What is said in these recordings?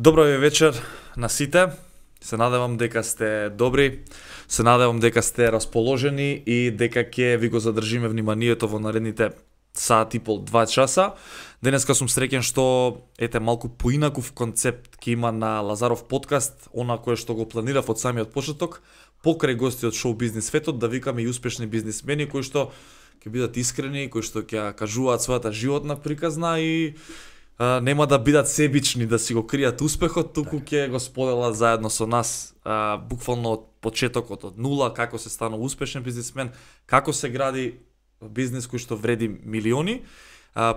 Добро ви вечер на сите. Се надевам дека сте добри, се надевам дека сте расположени и дека ќе ви го задржиме вниманието во наредните сат и пол, 2 часа. Денеска сум среќен што малку поинаков концепт ќе има на Лазаров подкаст, она кое што го планирав од самиот почеток, покрај гости од шоу бизнес светот, да викаме и успешни бизнисмени кои што ќе бидат искрени, кои што ќе кажуваат својата животна приказна и нема да бидат себични да си го кријат успехот, туку ќе го споделат заедно со нас, буквално од почетокот, од нула, како се станува успешен бизнисмен, како се гради бизнис кој што вреди милиони.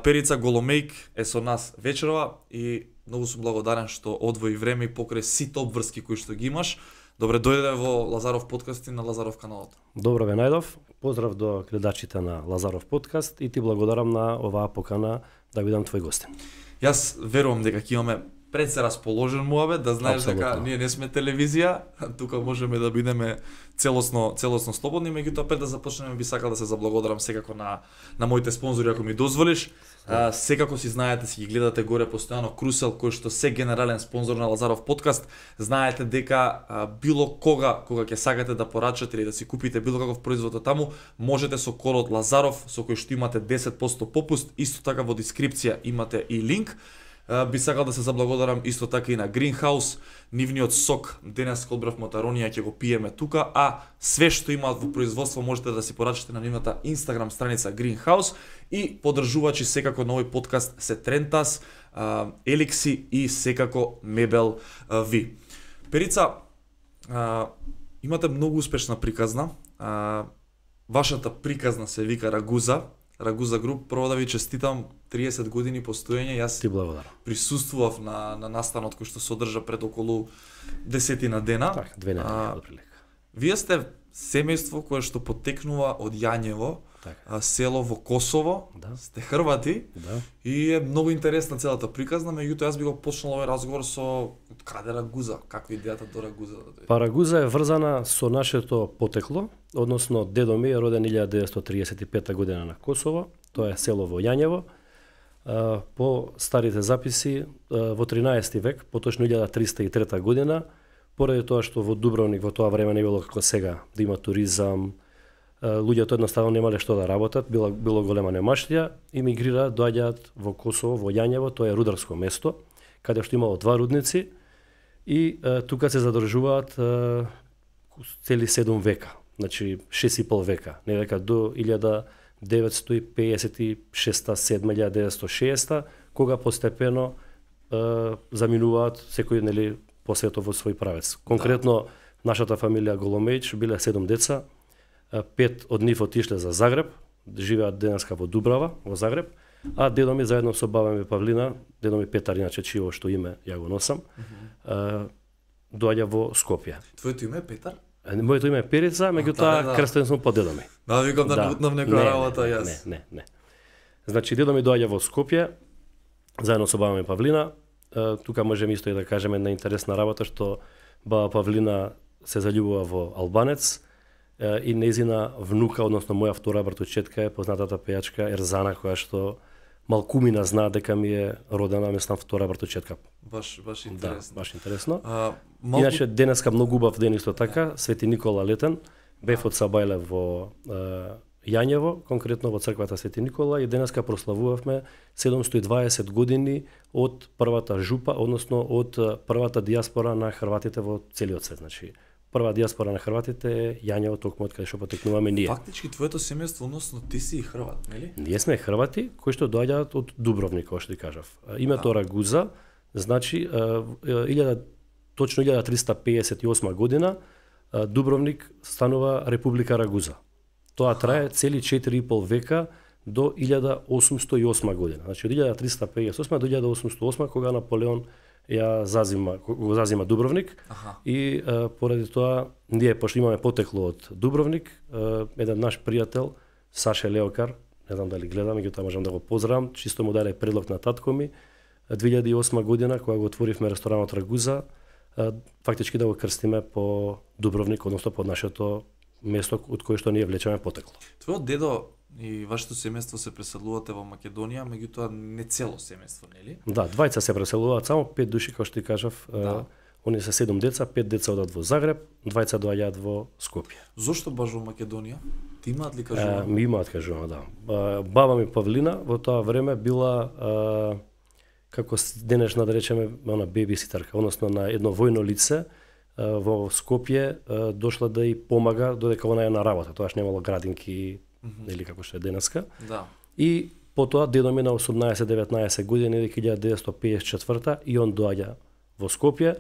Перица Голомејк е со нас вечерова и многу сум благодарен што одвои време и покрај сите обврски кои што ги имаш. Добре дојде во Лазаров подкаст и на Лазаров каналот. Добро ве најдов. Поздрав до гледачите на Лазаров подкаст и ти благодарам на оваа покана да бидам твој гостин. Јас верувам дека ќе имаме пред се расположен муабет, да знаеш Абсолютно. дека ние не сме телевизија, тука можеме да бидеме целосно слободни, меѓутоа пред да започнеме би сакал да се заблагодарам секако на моите спонзори ако ми дозволиш. Секако си знаете, си ги гледате горе постојано Крусел кој што се генерален спонзор на Лазаров подкаст. Знаете дека било кога ќе сакате да порачате или да си купите било каков производ од таму, можете со кодот Лазаров со кој што имате 10% попуст, исто така во дескрипција имате и линк. Би сакал да се заблагодарам исто така и на Greenhouse, нивниот сок, денес одбрав мотаронија ќе го пиеме тука, а све што имаат во производство можете да си порачате на нивната Instagram страница Greenhouse и поддржувачи секако на овој подкаст се Трентас, Еликси и секако Мебел Ви. Перица, имате многу успешна приказна, вашата приказна се вика Рагуза Груп. Прво да ви честитам 30 години постоење. Јас Ти благодарам. присуствував на настанот кој што се одржа пред околу 10 дена. Така, 2 недели отприлика. Вие сте семејство кое што потекнува од Јањево, Така. село во Косово. Да. Сте Хрвати Да. и е многу интересна целата приказна, меѓутоа јас би го почнал овој разговор со од каде Рагуза, каква е идејата до Рагуза да дојде? Рагуза е врзана со нашето потекло, односно дедо ми е роден 1935 година на Косово, тоа е село во Јањево. По старите записи во 13 век, поточно 1303 година, поради тоа што во Дубровник во тоа време не било како сега, да има туризам, луѓето едноставно немале што да работат, било голема немаштија, имигрираат, доаѓаат во Косово, во Јањево, тоа е рударско место, каде што имало 2 рудници и тука се задржуваат цели 7 века, значи 6,5 века, не века до 1956-1960, кога постепено заминуваат секој по светот во свој правец. Конкретно нашата фамилија Голомејч биле 7 деца, 5 од нив отишле за Загреб, живеат денеска во Дубрава, во Загреб, а дедо ми заедно со баба ми Павлина, дедо ми Петар, иначе чиво што име ја го носам, доаѓа во Скопје. Твоето име е Петар? Моето име е Перица, меѓутоа крстен сум по дедо ми. Да, викам да нутнав некоја работа јас. Не. Значи дедо ми доаѓа во Скопје, заедно со баба ми Павлина. Тука можеме исто и да кажеме една интересна работа што баба Павлина се заљубува во албанец и нејзина внука, односно моја втора братучетка е познатата пејачка Ерзана, која што малкумина знаа дека ми е родена, мислам, втора братучетка. Баш интересно. Да, баш интересно. Иначе денеска многу убав ден исто така, Свети Никола летен, бев од Сабајле во Јањево, конкретно во црквата Свети Никола, и денеска прославувавме 720 години од првата жупа, односно од првата диаспора на хрватите во целиот свет. Значи, прва диаспора на хрватите е Јањево, токму од каде што потекнуваме ние. Фактички твоето семејство, односно ти си и хрват, нели? Ние сме хрвати кои што доаѓаат од Дубровник, како што ти кажав. Името Рагуза значи точно 1358 година Дубровник станува Република Рагуза. Тоа трае цели 4,5 века до 1808 година. Значи од 1358 до 1808 кога Наполеон го зазима Дубровник. И поради тоа ние пошто имаме потекло од Дубровник, еден наш пријател Саше Леокар, не знам дали гледа, меѓутоа можам да го поздравам, чисто му даде предлог на татко ми 2008 година кога го отворивме ресторанот Рагуза, фактички да го крстиме по Дубровник, односно по нашето место од кое што ние влечеме потекло. Твојот дедо и вашето семејство се преселувате во Македонија, меѓутоа не цело семејство, нели? Да, двајца се преселуваат, само 5 души, како што ти кажав. Да. Они се 7 деца, 5 деца одат во Загреб, двајца доаѓаат во Скопје. Зошто баш во Македонија? Ти имаат ли кажувано? Ми имаат кажувано, да. Баба ми Павлина во тоа време била како денешна да речеме она бебиситерка, односно на едно војно лице во Скопје дошла да и помага додека она е на работа. Тоаш немало градинки или како што е денеска. Да. И потоа дедо ми на 18-19 години, 1954 и он доаѓа во Скопје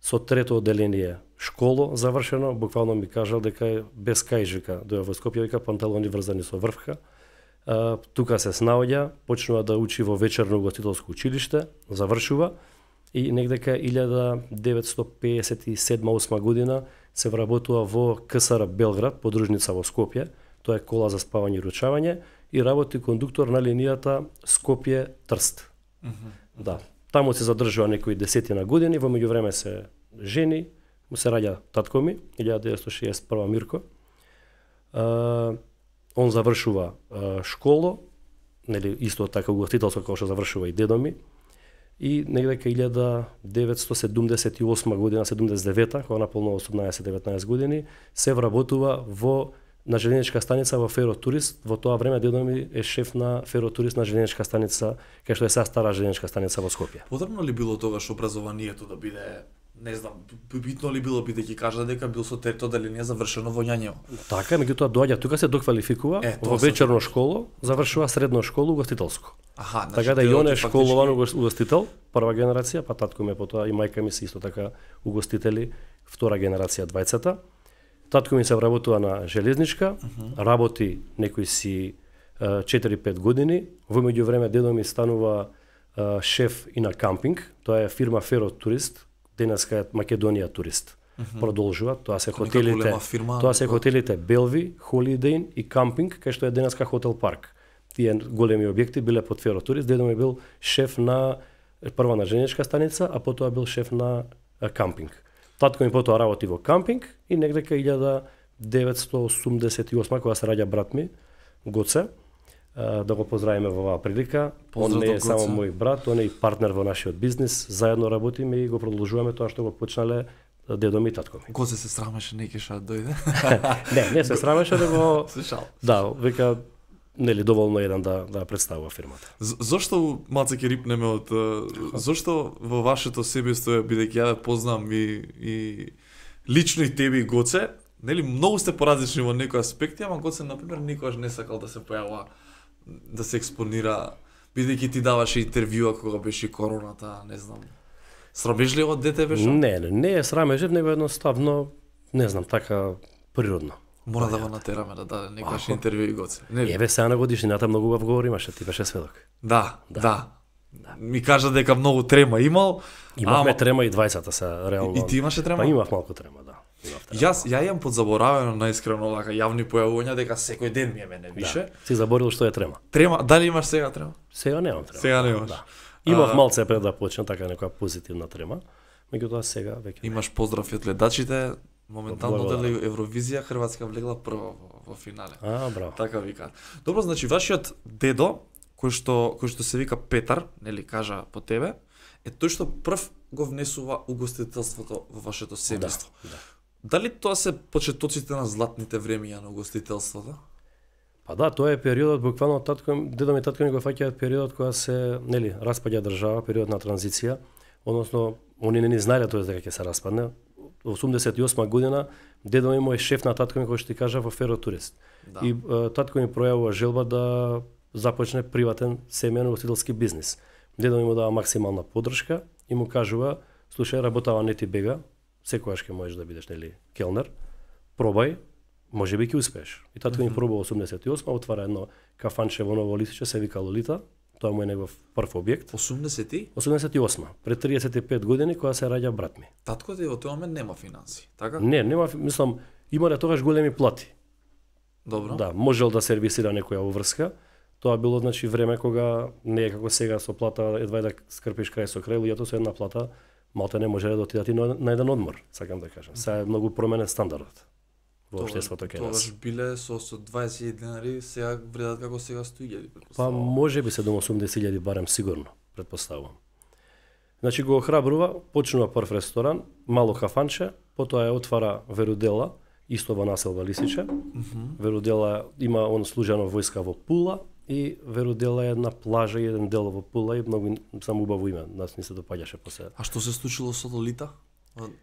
со трето одделение школо завршено, буквално ми кажал дека без кајж вика, доја во Скопје вика панталони врзани со врвка. Тука се снаоѓа, почнува да учи во вечерно угостителско училиште, завршува и негдека 1957-8 година се вработува во КСР Белград, подружница во Скопје, тоа е кола за спавање и ручавање, и работи кондуктор на линијата Скопје-Трст. Да, таму се задржува некои десетина години, во меѓувреме се жени, му се раѓа татко ми, 1961 Мирко. Он завршува школо, нели исто така угостителство како што завршува и дедо ми. И негдека 1978 година, 79-та, кога наполнува 18-19 години, се вработува на железничка станица во Феротурист. Во тоа време дедо ми е шеф на Феротурист на железничка станица, кај што е сега стара железничка станица во Скопје. Потребно ли било тогаш образованието да биде, не знам, битно ли било бидејќи кажа дека бил со трето одделение завршено во Њањево? Така, меѓутоа доаѓа тука се доквалификува во вечерно школо, завршува средно школо угостителско. Аха, значи, така да и он е школован угостител, прва генерација, па татко ми потоа и мајка ми се исто така угостители, втора генерација двајцата. Татко ми се вработува на железничка, работи некои си 4-5 години. Во меѓувреме дедо ми станува шеф и на кампинг, тоа е фирма Феротурист, денеска е Македонија Турист. Продолжува, тоа се хотелите, хотелите Белви, Холидейн и кампинг, кај што е денеска Хотел Парк. Тие големи објекти биле под Феротурист, дедо ми бил шеф на прва на железничка станица, а потоа бил шеф на кампинг. Татко ми потоа работи во кампинг и негдека 1988 кога се раѓа брат ми, Гоце, да го поздравиме во оваа прилика. Он не е само мој брат, он е и партнер во нашиот бизнис, заедно работиме и го продолжуваме тоа што го почнале дедо ми и татко ми. Гоце се срамеше не кеша дојде? Не се срамеше да го... Слушал. Да, вика, нели доволно еден да представува фирмата. Зошто малце ќе рипнеме од зошто во вашето семејство, бидејќи ја познам и лично и тебе и Гоце, нели многу сте поразлични во некои аспекти, ама Гоце на пример никогаш не сакал да се појавува, да се експонира, бидејќи ти даваше интервјуа кога беше короната, не знам. Срамежливо од дете беше? Не е срамежлив, него едноставно, не знам, така природно. Мора да го натераме да даде некојаш интервју и Гоце. Еве сега на годишнината многу убав говор имаше, ти беше сведок. Да. Ми кажа дека многу трема имал. Имавме трема и двајцата се реално. И ти имаше трема? Па имав малку трема, да. Ја имам подзаборавено наискрено вака јавни појавувања дека секој ден ми е мене више. Да. Си заборил што е трема. Трема, дали имаш сега трема? Сега немам трема. Сега немаш. Да. Имав малце пред да почнам така некоја позитивна трема, меѓутоа сега веќе. Имаш поздрави од гледачите. Моментално дали Евровизија Хрватска влегла прва во финале. Браво. Така вика. Добро, значи вашиот дедо кој што се вика Петар, нели кажа по тебе, е тој што прв го внесува угостителството во вашето семејство. Да. Дали тоа се почетоците на златните времиња на угостителството? Па да, тоа е периодот буквално дедо ми и татко ми го фаќаат периодот кога се, нели, распаѓа држава, период на транзиција, односно они не ни знаеле тоа дека ќе се распадне. Во 88 година дедо ми е шеф на татко ми, кој што ти кажа, во Феротурист. Да. И татко ми пројавува желба да започне приватен семејен угостителски бизнис. Дедо ми му дава максимална поддршка и му кажува: слушај, работава не ти бега, секогаш ќе можеш да бидеш, нели, келнер. Пробај, можеби ќе успееш. И татко ми пробува 88, отвара едно кафанче во Ново Лисиче, се вика Лолита. Тоа му е негов прв објект. 88, пред 35 години кога се раѓа брат ми. Татко ти во тој момент нема финанси, така? Не, нема, мислам, имале тогаш големи плати. Добро. Да, можел да сервисира некоја уврска. Тоа било, значи, време кога не е како сега со плата едва да скрпиш крај со крај, луѓето со една плата малте не може да отидат и на еден одмор, сакам да кажам. Сега е многу променет стандардот во општеството кај нас. Тогаш биле со 20 денари, сега вредат како сега 100.000. Па може би 780.000 барем сигурно, предпоставувам. Значи го охрабрува, почнува прв ресторан, мало кафанче, потоа ја отвара Верудела, исто во населба Лисиче. Верудела има он служено војска во Пула и Верудела е една плажа и еден дел во Пула и многу само убаво име, нас ни се допаѓаше после. А што се случило со Лолита?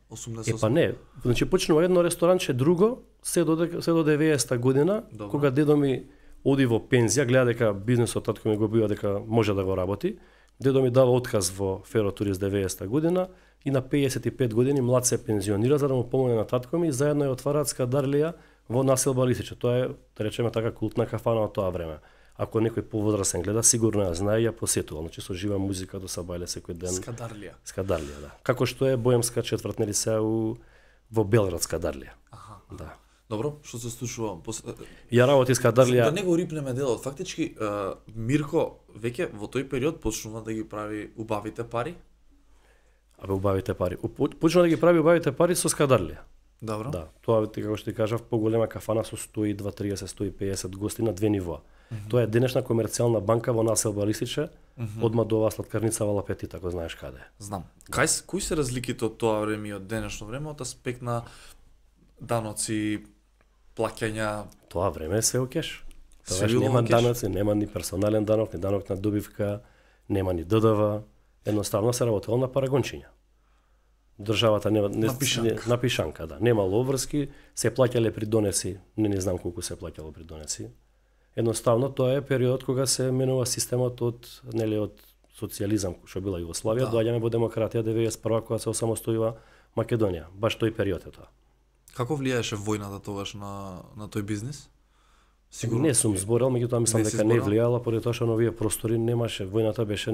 88? Па не, значи почнува едно ресторанче, друго, се до 90-та година, Добро. кога дедо ми оди во пензија, гледа дека бизнисот татко ми го бива дека може да го работи. Дедо ми дава отказ во Феротурист 90-та година и на 55 години млад се пензионира за да му помогне на татко ми и заедно ја отвараат скадарлија во населба Лисиче. Тоа е, да речеме така, култна кафана од тоа време. Ако некој повозрасен гледа, сигурно ја знае и ја посетува. Значи со жива музика до сабајле секој ден. Скадарлија. Скадарлија, да. Како што е Боемска четврт, нели се во Белград Скадарлија. Аха. Да. Добро, што се случува? Ја работи Скадарлија. Да не го рипнеме делот. Фактички, Мирко веќе во тој период почнува да ги прави убавите пари. Абе убавите пари. Почнува да ги прави убавите пари со Скадарлија. Добро. Да, тоа како што ти кажав, поголема кафана со 120, 30, 150 гости на две нивоа. Тоа е денешна комерцијална банка во населба Лисиче, одма до оваа сладкарница во Лапетит, ако знаеш каде. Знам. Кои се разликите од тоа време и од денешно време од аспект на даноци, плаќања? Тоа време е све океш. Све Тогаш било нема океш? даноци, нема ни персонален данок, ни данок на добивка, нема ни ДДВ, едноставно се работело на парагончиња. Државата нема На пишанка. на пишанка, да. Немало обврски, се плаќале при донеси, не знам колку се плаќало при донеси. Едноставно тоа е период кога се менува системот од од социјализам што била Југославија, Да. доаѓаме во демократија 91 кога се осамостојува Македонија. Баш тој период е тоа. Како влијаеше војната тогаш на тој бизнис? Сигурно. Не сум зборел, меѓутоа мислам Не си дека не зборел? влијала поради тоа што на овие простори немаше, војната беше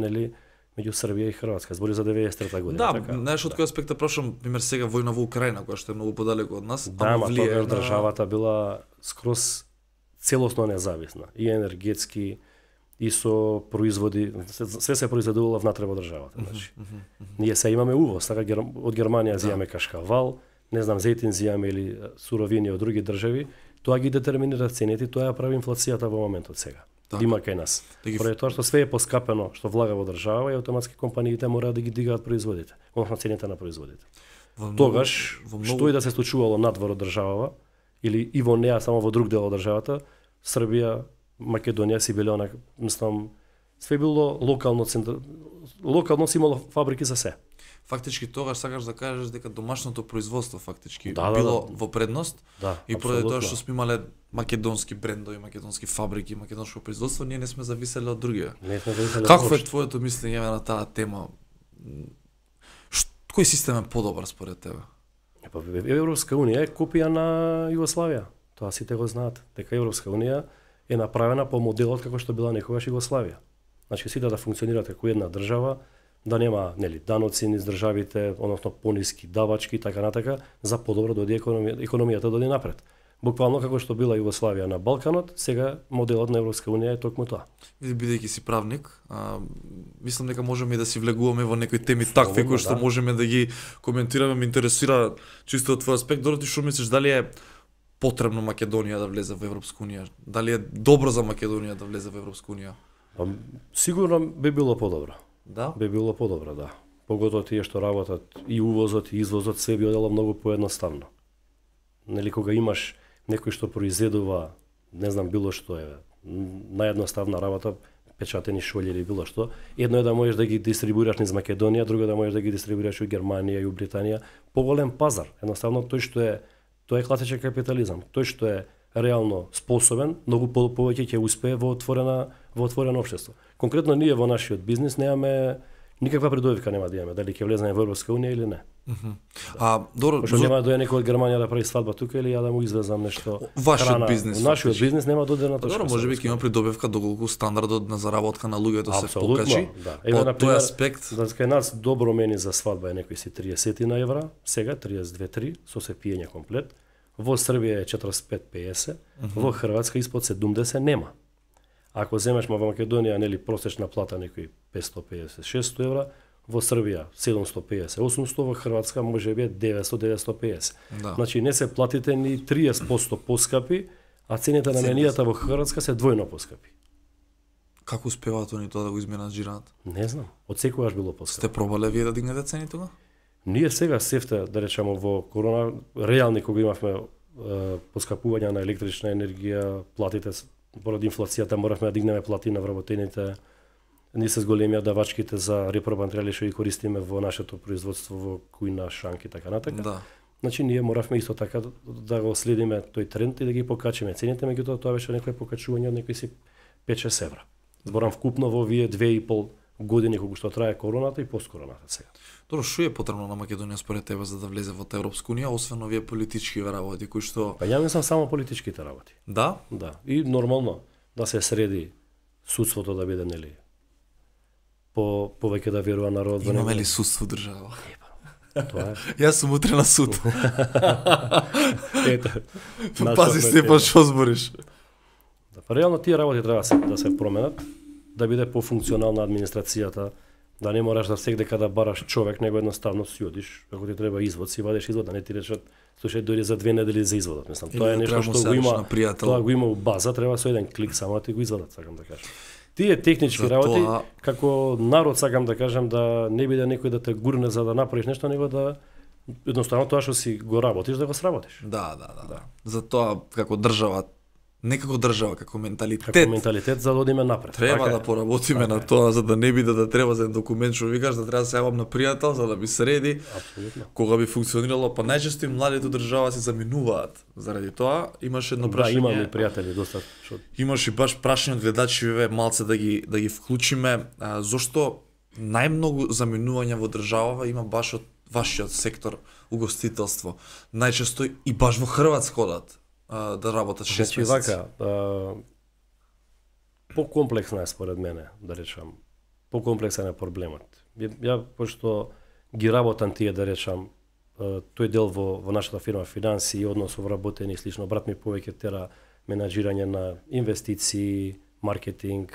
меѓу Србија и Хрватска, збори за 93 година, Да, така. знаеш од кој аспект да прашам, пример сега војна во Украина, која што е многу подалеку од нас, Да, ама ма влијае тогаш на- државата била скроз целосно независна, и енергетски, и со производи, све се произведувало внатре во државата, значи. Ние се имаме увоз, така од Германија зијаме кашкавал, не знам, зејтин зијаме или суровини од други држави, тоа ги детерминира цените, тоа ја прави инфлацијата во моментот сега. Така. Има кај нас. Да ги- Поради тоа што све е поскапено што влага во држава и автоматски компаниите мораат да ги дигаат производите, односно цените на производите. Во многу- Тогаш, во што и да се случувало надвор од државава, или и во неа, само во друг дел од државата, Србија, Македонија си биле онак, мислам, све било локално, локално си имало фабрики за се. Фактички тогаш сакаш да кажеш дека домашното производство фактички Да, било да. во предност Да, и поради тоа апсолутно. што сме имале македонски брендови, македонски фабрики, македонско производство, ние не сме зависеле од другија. Не сме зависеле Какво е од твоето мислење на таа тема? Кој систем е подобар според тебе? Па, Европска унија е копија на Југославија. Тоа сите го знаат, дека Европска унија е направена по моделот како што била некогаш Југославија. Значи сите да функционираат како една држава, да нема даноци низ државите, односно пониски давачки и така натака, за подобро да оди економијата да оди напред. Буквално како што била Југославија на Балканот, сега моделот на Европска унија е токму тоа. Бидејќи си правник, мислам дека можеме и да си влегуваме во некои теми такви кои што да. можеме да ги коментираме, ме интересира чисто од твој аспект. Дороти, што мислиш, дали е потребно Македонија да влезе во Европска унија? Дали е добро за Македонија да влезе во Европска унија? Сигурно би било подобро. Да? Би било подобро, да. Поготово тие што работат и увозот и извозот, се би одело многу поедноставно. Нели кога имаш некој што произведува, не знам, било што е, наједноставна работа, печатени шолји или било што, едно е да можеш да ги дистрибуираш низ Македонија, друго да можеш да ги дистрибуираш у Германија и у Британија, поголем пазар. Едноставно тоа е класичен капитализам. Тој што е реално способен, многу повеќе ќе успее во отворено општество. Конкретно ние во нашиот бизнис немаме никаква предувивка, нема да имаме дали ќе влеземе во Европска унија или не. Добро, Пошто нема да дојде некој од Германија да прави свадба тука или ја да му извезам нешто. Вашиот храна. бизнис, Нашиот фактички. бизнис нема додирна точка. Добро, можеби ќе има придобивка доколку стандардот на заработка на луѓето се Апсолутно, покачи. да. По тој например, аспект, да кај нас добро мени за свадба е некои си 30 на евра, сега 32-3 со се пиење комплет. Во Србија е 45-50, во Хрватска испод 70 нема. Ако земеш во Македонија, нели просечна плата некои 550-600 евра, во Србија 750-800, во Хрватска може би 900-950. Да. Значи не се платите ни 30% поскапи, а цените на менијата во Хрватска се двојно поскапи. Како успеваат они тоа да го изменаџираат? Не знам, од секогаш било поскапи. Сте пробале вие да дигнете цени тога? Ние сега сефте, да речеме, во корона, реални кога имавме поскапување на електрична енергија, платите поради инфлацијата моравме да дигнеме плати на вработените. Ние се зголемија давачките за репробантрели што ги користиме во нашето производство во кујна, шанки и така натака. Да. Значи ние моравме исто така да го следиме тој тренд и да ги покачиме цените, меѓутоа тоа беше некое покачување од некои си 5-6 евра. Зборам вкупно во овие 2,5 години кога што трае короната и посткороната сега. Добро, што е потребно на Македонија според тебе за да влезе во Европска унија, освен овие политички работи кои што Па ја мислам само политичките работи. Да? Да, и нормално да се среди судството да биде нели повеќе да верува народ во него. Имаме ли судство држава? Тоа е. Јас сум утре на суд. Ето. Пази Степан што збориш. Да, па реално тие работи треба да се променат, да биде пофункционална администрацијата, да не мораш да секдека да бараш човек, него едноставно си одиш, ако ти треба извод, си вадиш извод, да не ти речат, слушај, дојди за 2 недели за изводот. Мислам, тоа е нешто што го има, тоа го има у база, треба со еден клик само да ти го извадат, сакам да кажам. Тие технички работи, како народ сакам да кажам, да не биде некој да те гурне за да направиш нешто, него да едноставно тоа што си го работиш, да го сработиш. Да. Затоа како држава, не како држава, како менталитет. Како менталитет за да одиме напред. Треба да поработиме на тоа, за да не биде да треба за документ што викаш, да треба да се јавам на пријател за да би среди. Апсолутно. Кога би функционирало, па најчесто и младите држава се заминуваат. Заради тоа имаш едно прашање. Да, имаме пријатели доста што Имаш и баш прашање од гледачиве малце да ги вклучиме, зошто најмногу заминување во држава има баш од вашиот сектор угостителство. Најчесто и баш во Хрватска одат да работат 6 месеци. Значи вака, покомплексна е според мене, да речам. Покомплексен е проблемот. Ја пошто ги работам тие, да речам, тој дел во нашата фирма финанси и однос вработени и слично, брат ми повеќе тера менаџирање на инвестиции, маркетинг,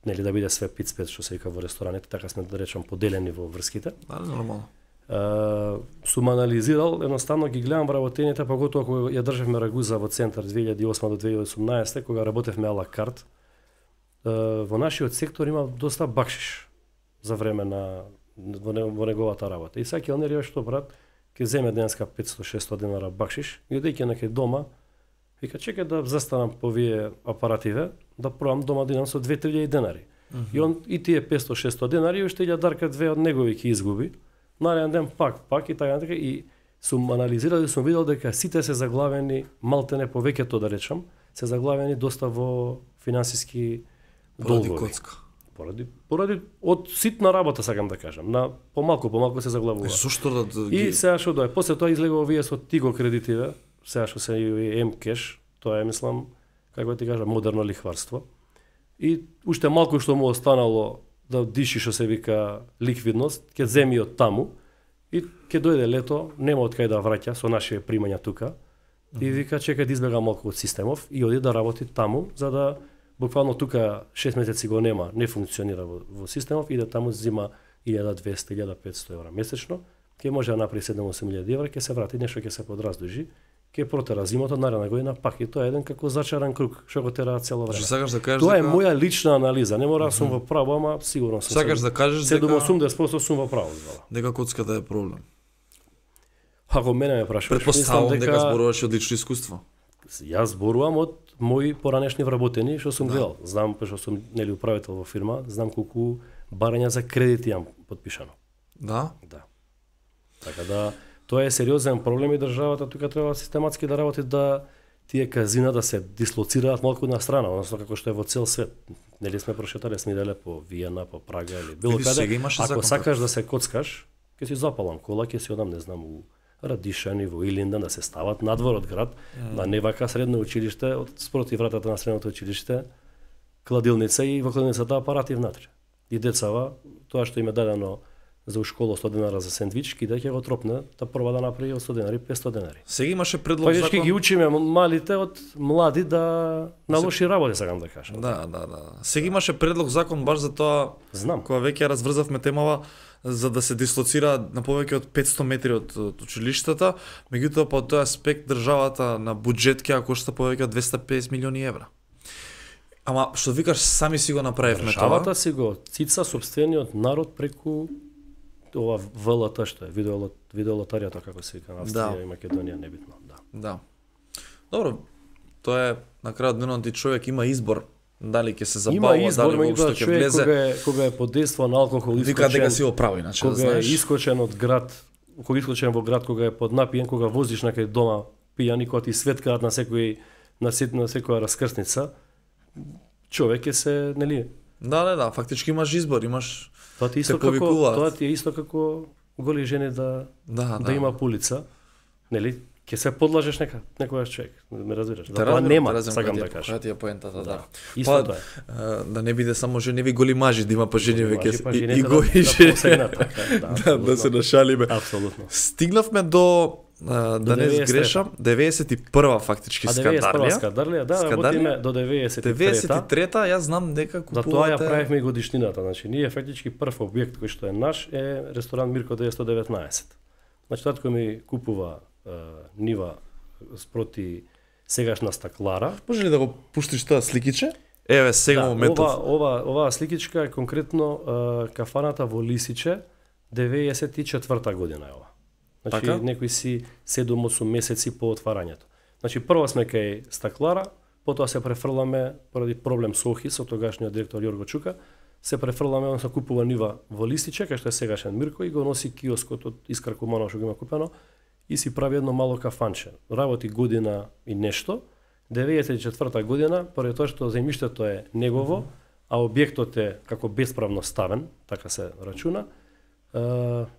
нели да биде све пиц-пет што се вика во рестораните, така сме да речам поделени во врските. Да, нормално. Сум анализирал, едноставно ги гледам вработените, поготоа кога ја држевме Рагуза во центар 2008 до 2018, кога работевме ала карт. Во нашиот сектор има доста бакшиш за време на во неговата работа. И сега келнерија што брат, ќе земе денеска 500-600 денара бакшиш, и одејќи некај дома, вика чекај да застанам по вие апаративе, да пробам дома да идам со 2-3 денари. И он и тие 500-600 денари уште ќе дарка 2 од негови ќе изгуби. Нареден ден пак и така и сум анализирал и сум видел дека сите се заглавени, малтене повеќето да речам, се заглавени доста во финансиски долгови. Поради од ситна работа сакам да кажам, на помалку се заглавува. Зошто да И сега што дое, после тоа излегува овие со Тиго кредитиве, сега што се и М-кеш, тоа е мислам како ти кажам модерно лихварство. И уште малку што му останало да диши што се вика ликвидност, ќе земи од таму и ќе дојде лето, нема од кај да враќа со нашите примања тука. И вика чекај да избега малку од системов и оди да работи таму за да буквално тука 6 месеци го нема, не функционира во системов, иде таму зима 1200-1500 евра месечно, ќе може да направи 7-8 евра, ќе се врати, нешто ќе се подраздужи, ќе протера зимото, наредна година пак и тоа е еден како зачаран круг, што го тера цело време. Сакаш да кажеш тоа е моја лична анализа, не мора сум во право, ама сигурно сум. Сакаш да кажеш дека 70% сум во право. Дека коцката е проблем. Ако мене ме прашуваш, предпоставувам дека зборуваш од лично искуство. Јас зборувам од мои поранешни вработени што сум гледал. Знам што сум нели управител во фирма, знам колку барања за кредити имам подпишано. Да? Да. Така да тоа е сериозен проблем и државата тука треба систематски да работи да тие казина да се дислоцираат малку на страна, односно како што е во цел свет. Нели сме прошетале, сме иделе по Виена, по Прага или било каде. Ако сакаш да се коцкаш, ќе си запалам кола, ќе си одам, не знам, у Радишани, во Илиндан, да се стават надвор од град, на не вака средно училиште, од спроти вратата на средното училиште, кладилница и во кладилницата апарати внатре. И децава, тоа што им е дадено за у школа 100 денара за сендвички, да ќе го тропне, да проба да направи од 100 денари 500 денари. Сега имаше предлог Фактички ги учиме малите од млади да на лоши работи, сакам да кажам. Да. Сега имаше предлог закон баш за тоа, Знам. кога веќе ја разврзавме темава, за да се дислоцира на повеќе од 500 метри од училиштата, меѓутоа по тој аспект државата на буџет ќе кошта повеќе од 250 милиони евра. Ама што викаш, сами си го направивме тоа. Државата си го цица сопствениот народ преку ова ВЛТ што е видеолотаријата како се вика на Австрија и Македонија, небитно, да. Да. Добро, тоа е на крајот денот и човек има избор дали ќе се забавува, дали воопшто ќе влезе. Кога е под дејство на алкохол, вика дека си оправи, иначе да знаеш. Кога е искочен од град, во град, кога е под напиен, кога возиш некај дома пијани, кога ти светкаат на секоја раскрсница, човек е се, нели? Да, фактички имаш избор, имаш тоа ти е исто како голи жени да има пулица, нели? Ќе се подлажеш некојаш човек, ме разбираш? Тоа нема, сакам да кажам. Која ти е поентата, да. Исто тоа е. Да не биде само женеви голи мажи, да има поженеви и голи жени. Да се нашалиме. Апсолутно. Стигнавме до да не сгрешам, 91-а фактички Скадарија. Скадарија, да, работиме до 93-та. 93-та, јас знам дека купувате. За тоа ја правевме и годишнината, значи ние фактички прв објект кој што е наш е ресторан Мирко 919. Значи татко ми купува нива спроти сегашна стаклара. Може ли да го пуштиш тоа сликиче? Еве сега моментов. Оваа сликичка е конкретно кафаната во Лисиче, 94-та година е ова. Значи некои си 7-8 месеци по отварањето. Значи прво сме кај стаклара, потоа се префрламе поради проблем со ОХИ, со тогашниот директор Јорго Чука, се префрламе, он се купува нива во Лисиче, кај што е сегашен Мирко, и го носи киоскот од Искар Куманов што го има купено и си прави едно мало кафанче. Работи година и нешто. 94-та година, поради тоа што земјиштето е негово, а објектот е како бесправно ставен, така се рачуна,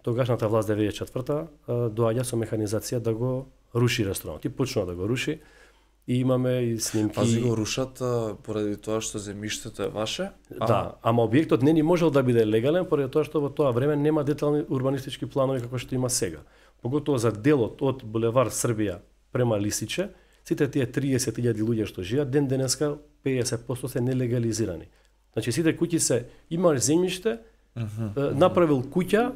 тогашната власт 94-та доаѓа со механизација да го руши ресторанот. И почнува да го руши. И имаме и снимки. Пази го рушат поради тоа што земјиштето е ваше? Да, ама објектот не ни можел да биде легален поради тоа што во тоа време нема детални урбанистички планови како што има сега. Поготово за делот од булевар Србија према Лисиче, сите тие 30.000 луѓе што живеат ден денеска 50% се нелегализирани. Значи сите куќи се имаш земјиште, направил куќа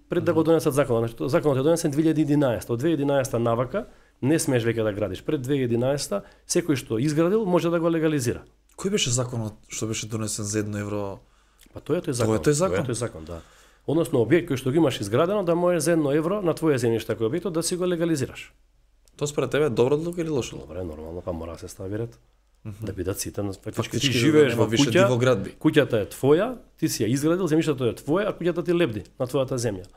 пред да го донесат законот. Значи, законот е донесен 2011. Од 2011 навака не смееш веќе да градиш. Пред 2011 секој што изградил може да го легализира. Кој беше законот што беше донесен за 1 евро? Па тоа е тој закон. Тоа е тој закон, да. Односно објект кој што го имаш изградено да може за 1 евро на твое земјиште кој објектот да си го легализираш. Тоа според тебе е добра одлука или лоша? Добре, нормално, па мора да се стави ред. Да бидат сите фактички ти живееш во куќа, куќата е твоја, ти си ја изградил, земјиштето е твое, а куќата ти лебди на твојата земја.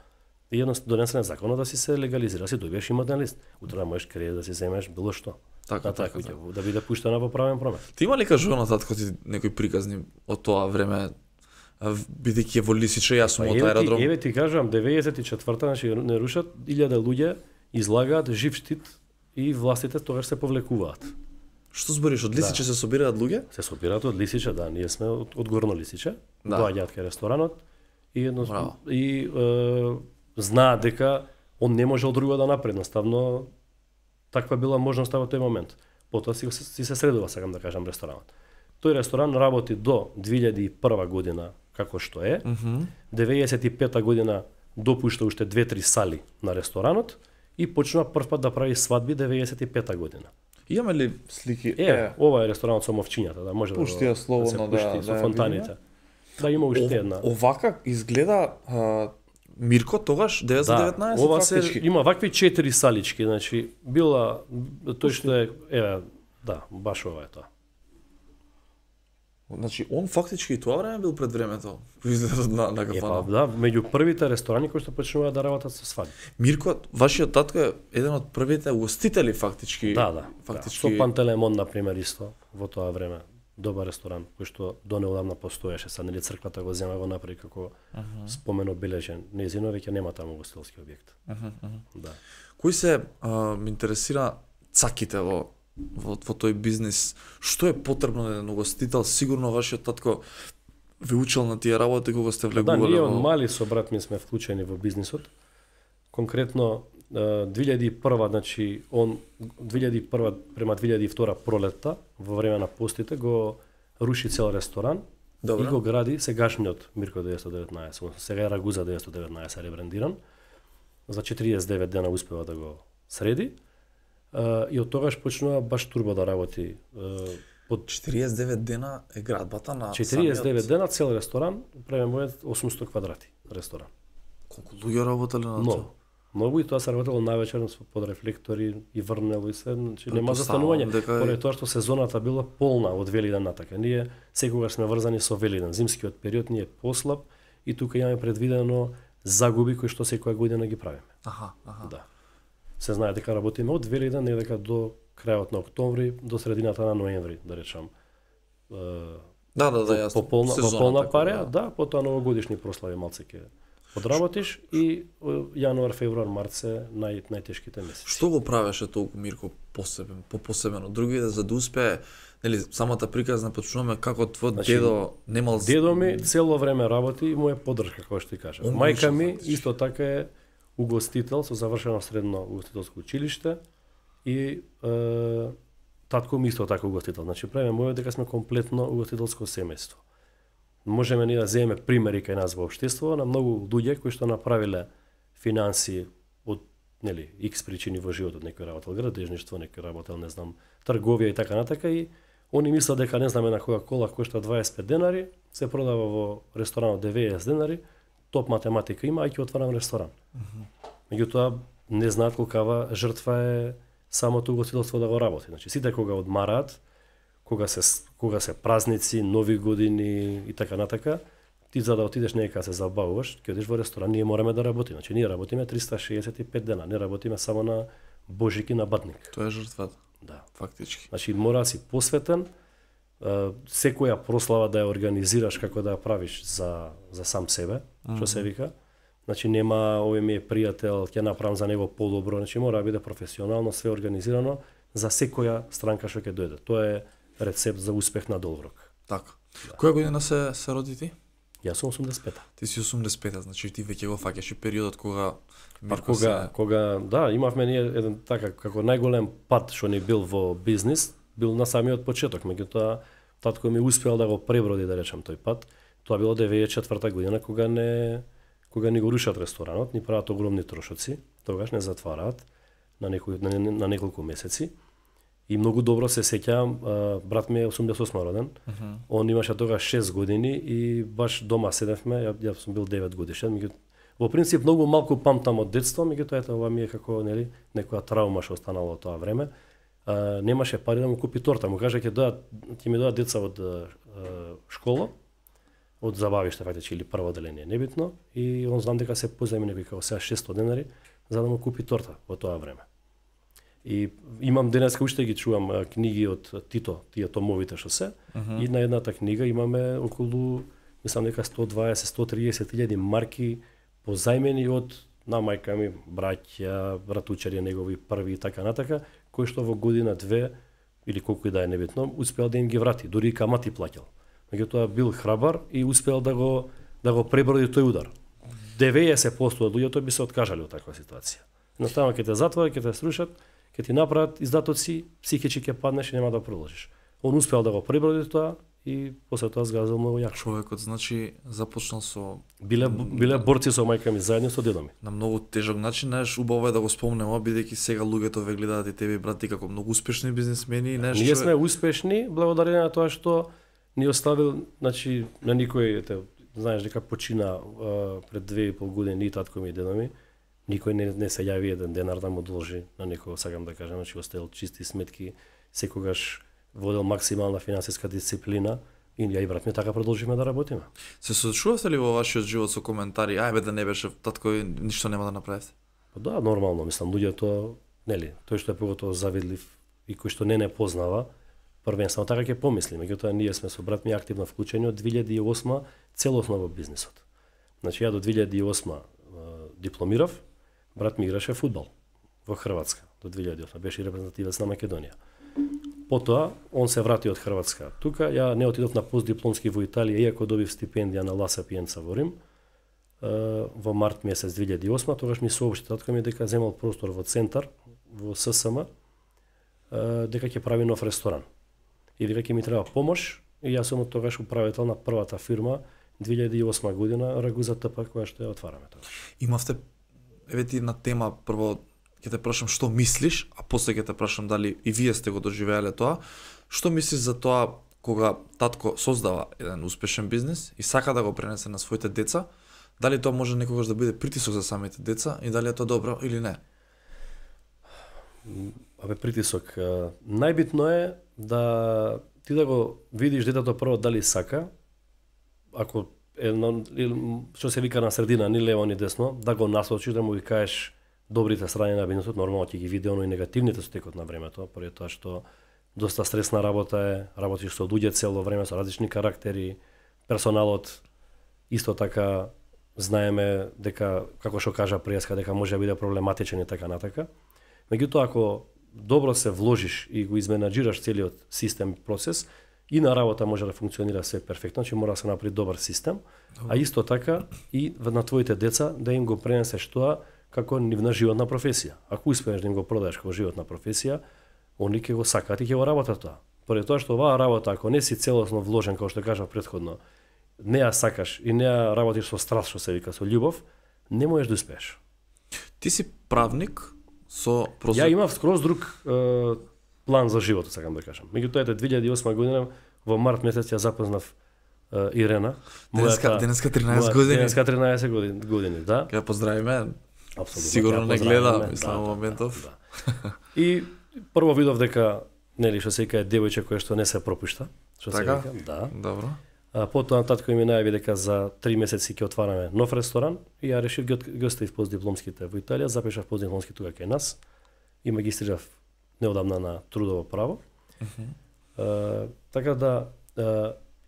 И едноставно донесен е законот да си се легализира, си добиеш имотен лист. Утре можеш кредит да си земеш било што. Така, да биде пуштена во правен промет. Ти има ли кажувано татко ти некои приказни од тоа време, бидејќи е во Лисиче, јас сум од аеродром? Еве ти кажувам, 94-та, значи не рушат, 1000 луѓе излагаат жив штит и властите тогаш се повлекуваат. Што збориш, од Лисиче се собираат луѓе? Се собираат од Лисиче, да, ние сме од Горно Лисиче, доаѓаат кај ресторанот и знаат дека он не можел друго да направи, едноставно таква била можноста во тој момент. Потоа си се средува, сакам да кажам, ресторанот. Тој ресторан работи до 2001 година како што е. 95 година допушта уште 2-3 сали на ресторанот и почнува првпат да прави свадби 95 година. Имаме ли слики? Ова е ресторанот со мовчињата, да може пушти ја слободно да со фонтаните. Да, има уште една. Овака изгледа Мирко тогаш 919 да, ова се има вакви 4 салички, значи била тој што е да, баш ова е тоа. Значи он фактички и тоа време бил пред времето. Изгледа на кафана. Да, меѓу првите ресторани кои што почнуваат да работат со свадби. Мирко, вашиот татко е еден од првите угостители фактички. Да. Со Пантелеймон на пример исто во тоа време. Добар ресторан кој што донеодамна постоеше, са нели црквата го зема го направи како спомен обележен. Нејзино веќе нема таму угостителски објект. Да. Кој се ме интересира цаките во тој бизнис? Што е потребно на еден угостител? Сигурно вашиот татко ви учел на тие работи кога сте Да, влегувале ние во... од мали со брат ми сме вклучени во бизнисот. Конкретно 2001, значи он 2001 према 2002 пролетта во време на постите го руши цел ресторан. Добро. И го гради сегашниот Мирко 919, сега е Рагуза 919 ребрандиран. За 49 дена успева да го среди. И од тогаш почнува баш турбо да работи. Под 49 дена е градбата на 49 дена цел ресторан, премемува 800 квадрати ресторан. Колку луѓе работеле на тоа? Многу и тоа се работело навечер под рефлектори и врнело и се, значи нема застанување. Поради тоа што сезоната била полна од Велиден натака. Ние секогаш сме врзани со Велиден. Зимскиот период ни е послаб и тука имаме предвидено загуби кои што секоја година ги правиме. Аха. Да. Се знае дека работиме од Велиден недека до крајот на октомври до средината на ноември, да речам. Да, јасно. По полна пареја, да, потоа новогодишни прослави малце ќе подработиш и јануар, февруар, март се најтешките месеци. Што го правеше толку Мирко посебено? Другите за да успее, нели самата приказна почнуваме како твој дедо немал... Дедо ми цело време работи и му е поддршка, како што ти кажам. Мајка ми исто така е угостител со завршено средно угостителско училиште и татко ми исто така угостител. Значи правиме мојот дека сме комплетно угостителско семејство. Можеме ни да земеме примери кај нас во општество на многу луѓе кои што направиле финанси од нели X причини во животот, некој работел градежништво, некој работел не знам трговија и така натака и они мислат дека не знаме на Кока-кола кошта 25 денари, се продава во ресторанот 90 денари, топ математика има, а ќе отварам ресторан. Меѓутоа не знаат колкава жртва е самото угостителство да го работи. Значи сите кога одмараат, кога се празници, нови години и така натака, ти за да отидеш некаде се забавуваш, ќе одиш во ресторан, ние мораме да работиме. Значи ние работиме 365 дена, не работиме само на Божик и на Батник. Тоа е жртвата. Да. Фактички. Значи мора да си посветен, секоја прослава да ја организираш како да ја правиш за сам себе, што се вика. Значи нема овој ми е пријател, ќе направам за него подобро, значи мора да биде професионално, све организирано за секоја странка што ќе дојде. Тоа е рецепт за успех на долгорок. Така. Да. Која година се роди ти? Јас сум 85-та. Ти си 85-та, значи ти веќе го фаќаш и периодот кога кога да, имавме ние еден така како најголем пат што ни бил во бизнис, бил на самиот почеток, меѓутоа татко ми успеал да го преброди, да речам, тој пат. Тоа било 94-та година кога ни го рушат ресторанот, ни прават огромни трошоци, тогаш не затвараат на неколку месеци. И многу добро се сеќавам, брат ми е 88 роден, он имаше тогаш 6 години и баш дома седевме, ја сум бил 9 годишен, во принцип многу малку памтам од детство, меѓутоа ето ова ми е како нели некоја траума што останала од тоа време. Немаше пари да му купи торта, му кажа ќе ми доаѓаат деца од школа, од забавиште фактички или прво оделение, небитно, и он знам дека се позајми некои како сега 600 денари за да му купи торта во тоа време. И имам денеска уште ги чувам книги од Тито, тие томовите што се, и на едната книга имаме околу, мислам дека 120-130 илјади марки позајмени од на мајка ми, браќа, братучари негови први и така натака, кои што во година две или колку и да е небитно, успеал да им ги врати, дури и камати плаќал. Меѓутоа бил храбар и успеал да го преброди тој удар. 90% од луѓето би се откажале од таква ситуација. Едноставно ќе те затворат, ќе те срушат, ќе ти направат издатоци, психички ќе паднеш и нема да продолжиш. Он успеал да го преброди тоа и после тоа згазил многу јако. Човекот значи започнал со биле борци со мајка ми заедно со дедо ми. На многу тежок начин, знаеш, убаво е да го спомнеме, бидејќи сега луѓето ве гледаат и тебе брат ти како многу успешни бизнисмени, знаеш. Ние сме успешни благодарение на тоа што ни оставил, значи на никој, знаеш дека почина пред 2,5 години и татко ми и дедо ми. Никој не се јави еден денар да му должи на некој, сакам да кажам, значи оставил чисти сметки, секогаш водел максимална финансиска дисциплина и ја и брат ми така продолжиме да работиме. Се соочувавте ли во вашиот живот со коментари, ајбе да не беше татко ништо нема да направите? Да, нормално, мислам, луѓето, нели, тој што е поготово завидлив и кој што не познава, првенствено така ќе помисли, меѓутоа ние сме со брат ми активно вклучени од 2008 целосно во бизнисот. Значи ја до 2008 дипломирав, брат ми играше фудбал во Хрватска до 2008, беше репрезентативец на Македонија. Потоа, он се врати од Хрватска. Тука, ја не отидов на постдипломски во Италија, иако добив стипендија на Ла Сапиенца во Рим, во март месец 2008, тогаш ми соопшти татко ми дека земал простор во центар, во ССМ, дека ќе прави нов ресторан. И дека ќе ми треба помош, и јас сум од тогаш управител на првата фирма 2008 година, Рагуза ТП, која што ја отвараме тогаш. Имавте, еве ти на тема, прво ќе те прашам што мислиш, а после ќе те прашам дали и вие сте го доживеале тоа. Што мислиш за тоа кога татко создава еден успешен бизнис и сака да го пренесе на своите деца, дали тоа може некогаш да биде притисок за самите деца и дали е тоа добро или не? Абе, притисок. Најбитно е да ти да го видиш детето прво дали сака, ако што се вика на средина, ни лево ни десно, да го насочиш, да му ги кажеш добрите страни на бизнисот, нормално ќе ги види оно и негативните со текот на времето, поради тоа што доста стресна работа е, работиш со луѓе цело време, со различни карактери, персоналот исто така знаеме дека, како што кажа Пријаска, дека може да биде проблематичен и така натака. Меѓутоа, ако добро се вложиш и го изменаџираш целиот систем процес, и на работа може да функционира све перфектно, значи мора да се направи добар систем, а исто така и на твоите деца да им го пренесеш тоа како нивна животна професија. Ако успееш да им го продадеш како животна професија, они ќе го сакаат и ќе го работат тоа. Поради тоа што оваа работа, ако не си целосно вложен, како што кажав претходно, не ја сакаш и не ја работиш со страст, што се вика, со љубов, не можеш да успееш. Ти си правник со Ја имав скроз друг план за животот, сакам да кажам. Меѓутоа, 2008 година во март месец ја запознав Ирена. Денеска 13 години. Денеска 13 години, да. Ќе ја поздравиме. Апсолутно. Сигурно не гледа, мислам, моментов. Да. И прво видов дека, нели, што се вика, девојче кој што не се пропушта, што се Така? вика, да. Добро. Потоа татко ми најави дека за 3 месеци ќе отвараме нов ресторан и ја решив ги оставив постдипломските во Италија, запишав постдипломски тука кај нас и магистрирав неодамна на трудово право. Така да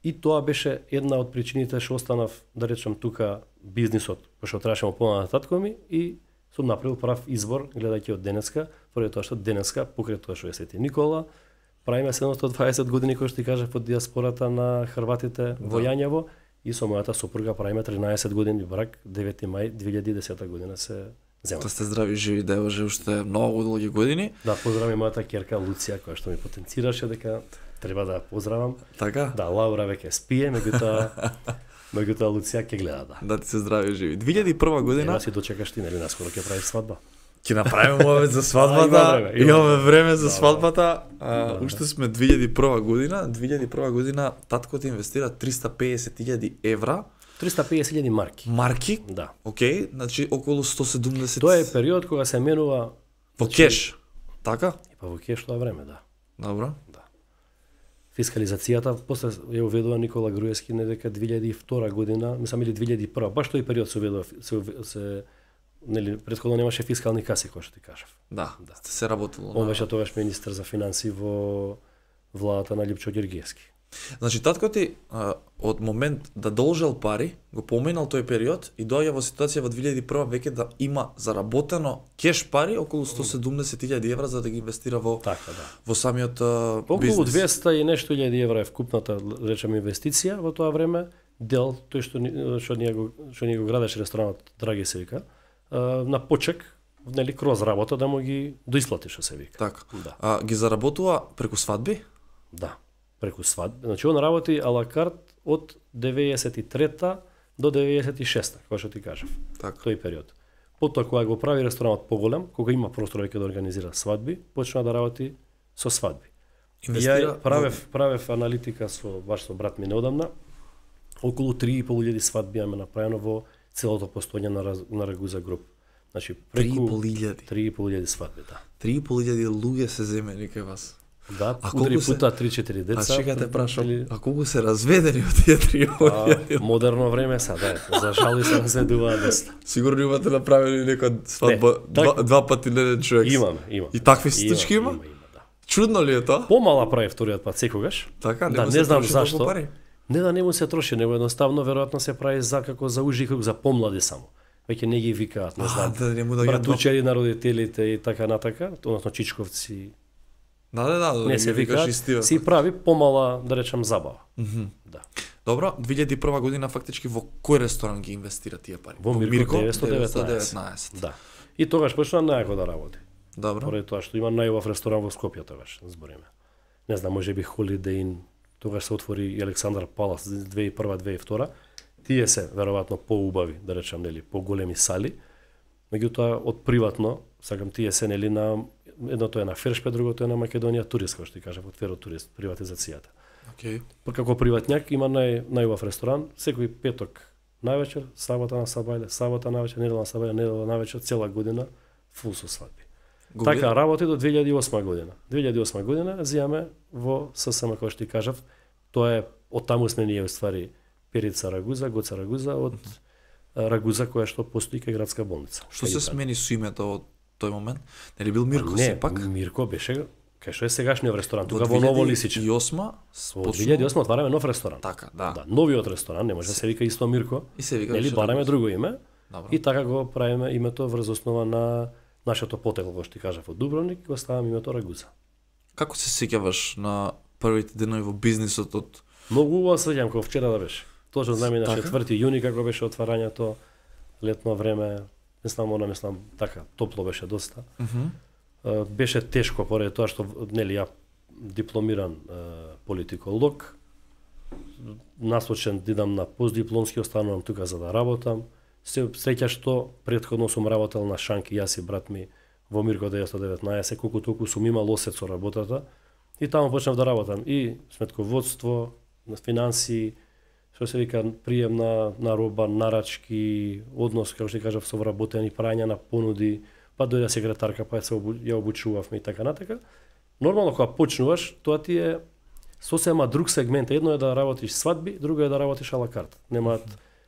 и тоа беше една од причините што останав, да речем, тука бизнисот, пошто требаше му помогна татко ми и сум направил прав избор гледајќи од денеска, поради тоа што денеска покрај тоа што е Свети Никола, правиме 720 години кој што ти кажав од диаспората на хрватите во Јањево и со мојата сопруга правиме 13 години брак, 9 мај 2010 година се зема. Тоа сте здрави живи девојче уште многу долги години. Да, поздравам мојата ќерка Луција која што ми потенцираше дека треба да поздравам. Така? Да, Лаура веќе спие, меѓутоа Луција ќе гледа, да. Да ти се здрави живи. 2001 година. Ева си дочекаш ти, нели, наскоро ќе правиш свадба. Ќе направиме мовет за свадбата. Имаме време за свадбата. Уште сме 2001 година. 2001 година татко ти инвестира 350.000 евра. 350.000 марки. Марки? Да. Океј, значи околу 170. Тоа е период кога се менува во кеш. Така? И па во кеш тоа време, да. Добро. Да. Фискализацијата после ја уведува Никола Груевски дека 2002 година, мислам или 2001, баш тој период се уведува се нели претходно немаше фискални каси, кој што ти кажав. Да, да. Се работело. Он беше тогаш министер за финансии во владата на Липчо Ѓоргиевски. Значи татко ти од момент да должел пари, го поминал тој период и доаѓа во ситуација во 2001 веќе да има заработено кеш пари околу 170.000 евра за да ги инвестира во така, да. Во самиот околу бизнес. 200 и нешто илјади евра е вкупната, речеме, инвестиција во тоа време. Дел тој што ние го градеше ресторанот Драги се вика, на почек, нели кроз работа да му ги доисплати што се вика. Така. Да. Ги заработува преку свадби? Да, преку свадби. Значи он работи ала карт од 93-та до 96-та, како што ти кажав. Така. Тој период. Потоа кога го прави ресторанот поголем, кога има простор веќе да организира свадби, почна да работи со свадби. Инвестира. Ја правев аналитика со брат ми неодамна. Околу 3.500 свадби имаме направено во целото постоење на Рагуза груп. Значи преку 3.500 свадби, да. 3.500 луѓе се земени кај вас. Да, удри пута 3-4 деца. А сега те прашам, а колку се разведени од тие 3.000? Модерно време са, да. За жал и се разведуваат доста. Сигурно имате направени нека свадба два пати на еден човек. Имаме. И такви случаи има? Има, да. Чудно ли е тоа? Помала прави вториот пат секогаш. Така, да, не знам зашто. Не да не му се троши, него едноставно веројатно се прави за како за ужи круг, за помлади само. Веќе не ги викаат, не знам. Да не му да братучери на родителите и така натака, односно чичковци. Да, Не се викаат, истива. си прави помала, да речам, забава. Да. Добро, 2001 година фактички во кој ресторан ги инвестира тие пари? Во Мирко 919. 919. Да. И тогаш почна најако да работи. Добро. Поради тоа што има најубав ресторан во Скопје тогаш, збориме. Не знам, можеби Holiday Inn, тогаш се отвори и Александар Палас 2001-2002. Тие се веројатно поубави, да речам, нели, поголеми сали. Меѓутоа од приватно, сакам тие се нели на едното е на Фершпе, другото е на Македонија Турист, како што ти кажав, од Феротурист, приватизацијата. Океј. Како приватњак има најубав ресторан, секој петок највечер, сабота на Сабајле, сабота највечер, недела на Сабајле, недела највечер, цела година фул со свадби. Така работи до 2008 година. 2008 година зијаме во ССМ, како што ти кажав, тоа е од таму сме ние уствари Перица Рагуза, Гоца Рагуза од Рагуза која што постои кај градска болница. Што се смени со името од тој момент? Нели бил Мирко сепак? Не, Мирко беше кај што е сегашниот ресторан, тука во Ново Лисиче. Во 2008 отвараме нов ресторан. Така, да. Да, новиот ресторан, не може да се вика исто Мирко. И се вика нели бараме друго име. Добро. И така го правиме името врз основа на нашето потекло, како што ти кажав, од Дубровник, го ставаме името Рагуза. Како се сеќаваш на првите денови во бизнисот од Многу убаво се сеќавам, како вчера да беше. Точно знаме на Така? 4 јуни како беше отварањето, летно време, мислам така, топло беше доста. Беше тешко поради тоа што нели ја дипломиран политиколог, насочен да идам на постдипломски, останувам тука за да работам. Се среќа што претходно сум работел на Шанки, јас и брат ми во Мирко 919, колку толку сум имал осет со работата и таму почнав да работам и сметководство, на финансии, што се вика прием на роба, нарачки, однос, како што кажав, со вработени, прајање на понуди, па дојде секретарка, па ја обучувавме и така натака. Нормално кога почнуваш, тоа ти е сосема друг сегмент. Едно е да работиш свадби, друго е да работиш ала карт. Немаат